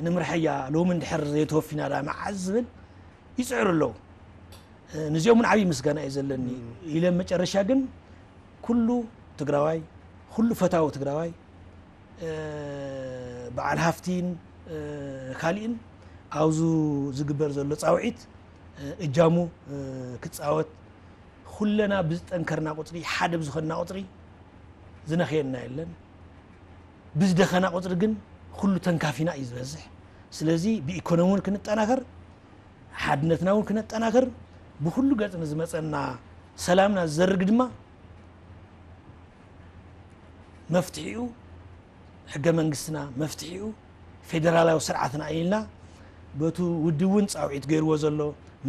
ንምርሐያ ሎሚ እንድሕር ዘይተወፊና ዳ መዓዝ ዝብል ይፅዕሩ ኣለዉ። ንዚኦም እውን ዓብዪ ምስጋና እዩ ዘለኒ ኢለ መጨረሻ ግን ኩሉ ትግራዋይ ኩሉ ፈታዊ ትግራዋይ በዓል ሃፍቲን ካሊእን ኣብዚ ዝግበር ዘሎ ፃውዒት እጃሙ ክፃወት ኩለና ብዝጠንከርና ቁፅሪ ሓደ ብዝኾንና ቁፅሪ ዝነኽየና የለን። ብዝደኸና ቁፅሪ ግን ኩሉ ተንካፊና እዩ ዝበዝሕ። ስለዚ ብኢኮኖሚ እውን ክንጠናኸር ሓድነትና እውን ክነጠናኽር ብኩሉ ገፅ ንዝመፀና ሰላምና ዝዘርግ ድማ መፍትሒኡ ሕገ መንግስትና መፍትሒኡ ፌደራላዊ ስርዓትና ኢልና በቱ ውድብ እውን ፃውዒት ገይርዎ ዘሎ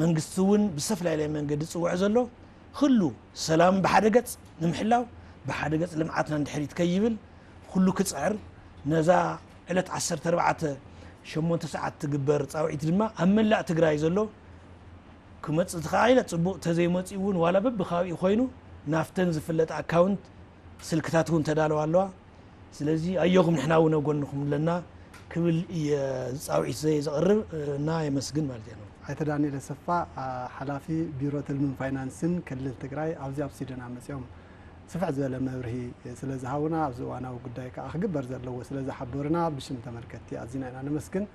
መንግስቲ እውን ብዝተፈላለየ መንገዲ ዝፅውዖ ዘሎ ኩሉ ሰላም ብሓደ ገፅ ንምሕላው ብሓደ ገፅ ልምዓትና እንድሕሪት ከይብል ኩሉ ክፅዕር ነዛ ዕለት ዓሰርተ ኣርባዕተ ሸሞንተ ሰዓት ትግበር ፃውዒት ድማ ኣብ መላእ ትግራይ ዘሎ ክመፅእ ተኻኢለ ፅቡቕ ተዘይመፂኡ እውን ዋላ በብከባቢኡ ኮይኑ ናፍተን ዝፍለጥ ኣካውንት ስልክታት እውን ተዳለዋ ኣለዋ። ስለዚ ኣዮኹም ንሕና እውን ኣብ ጎንኹም ኣለና ክብል እየ ፃውዒት ዘይ ዘቕርብ እና የመስግን ማለት እየ። ኣይተ ዳንኤል ኣሰፋ ሓላፊ ቢሮ ትልምን ፋይናንስን ክልል ትግራይ ኣብዚ ኣብ ስዊድን መፂኦም ስፍሕ ዝበለ መብርሂ ስለ ዝሃቡና ኣብዚ እዋናዊ ጉዳይ ከዓ ክግበር ዘለዎ ስለ ዝሓበሩና ብሽም ተመልከትቲ ኣዚና ኢና ነመስግን።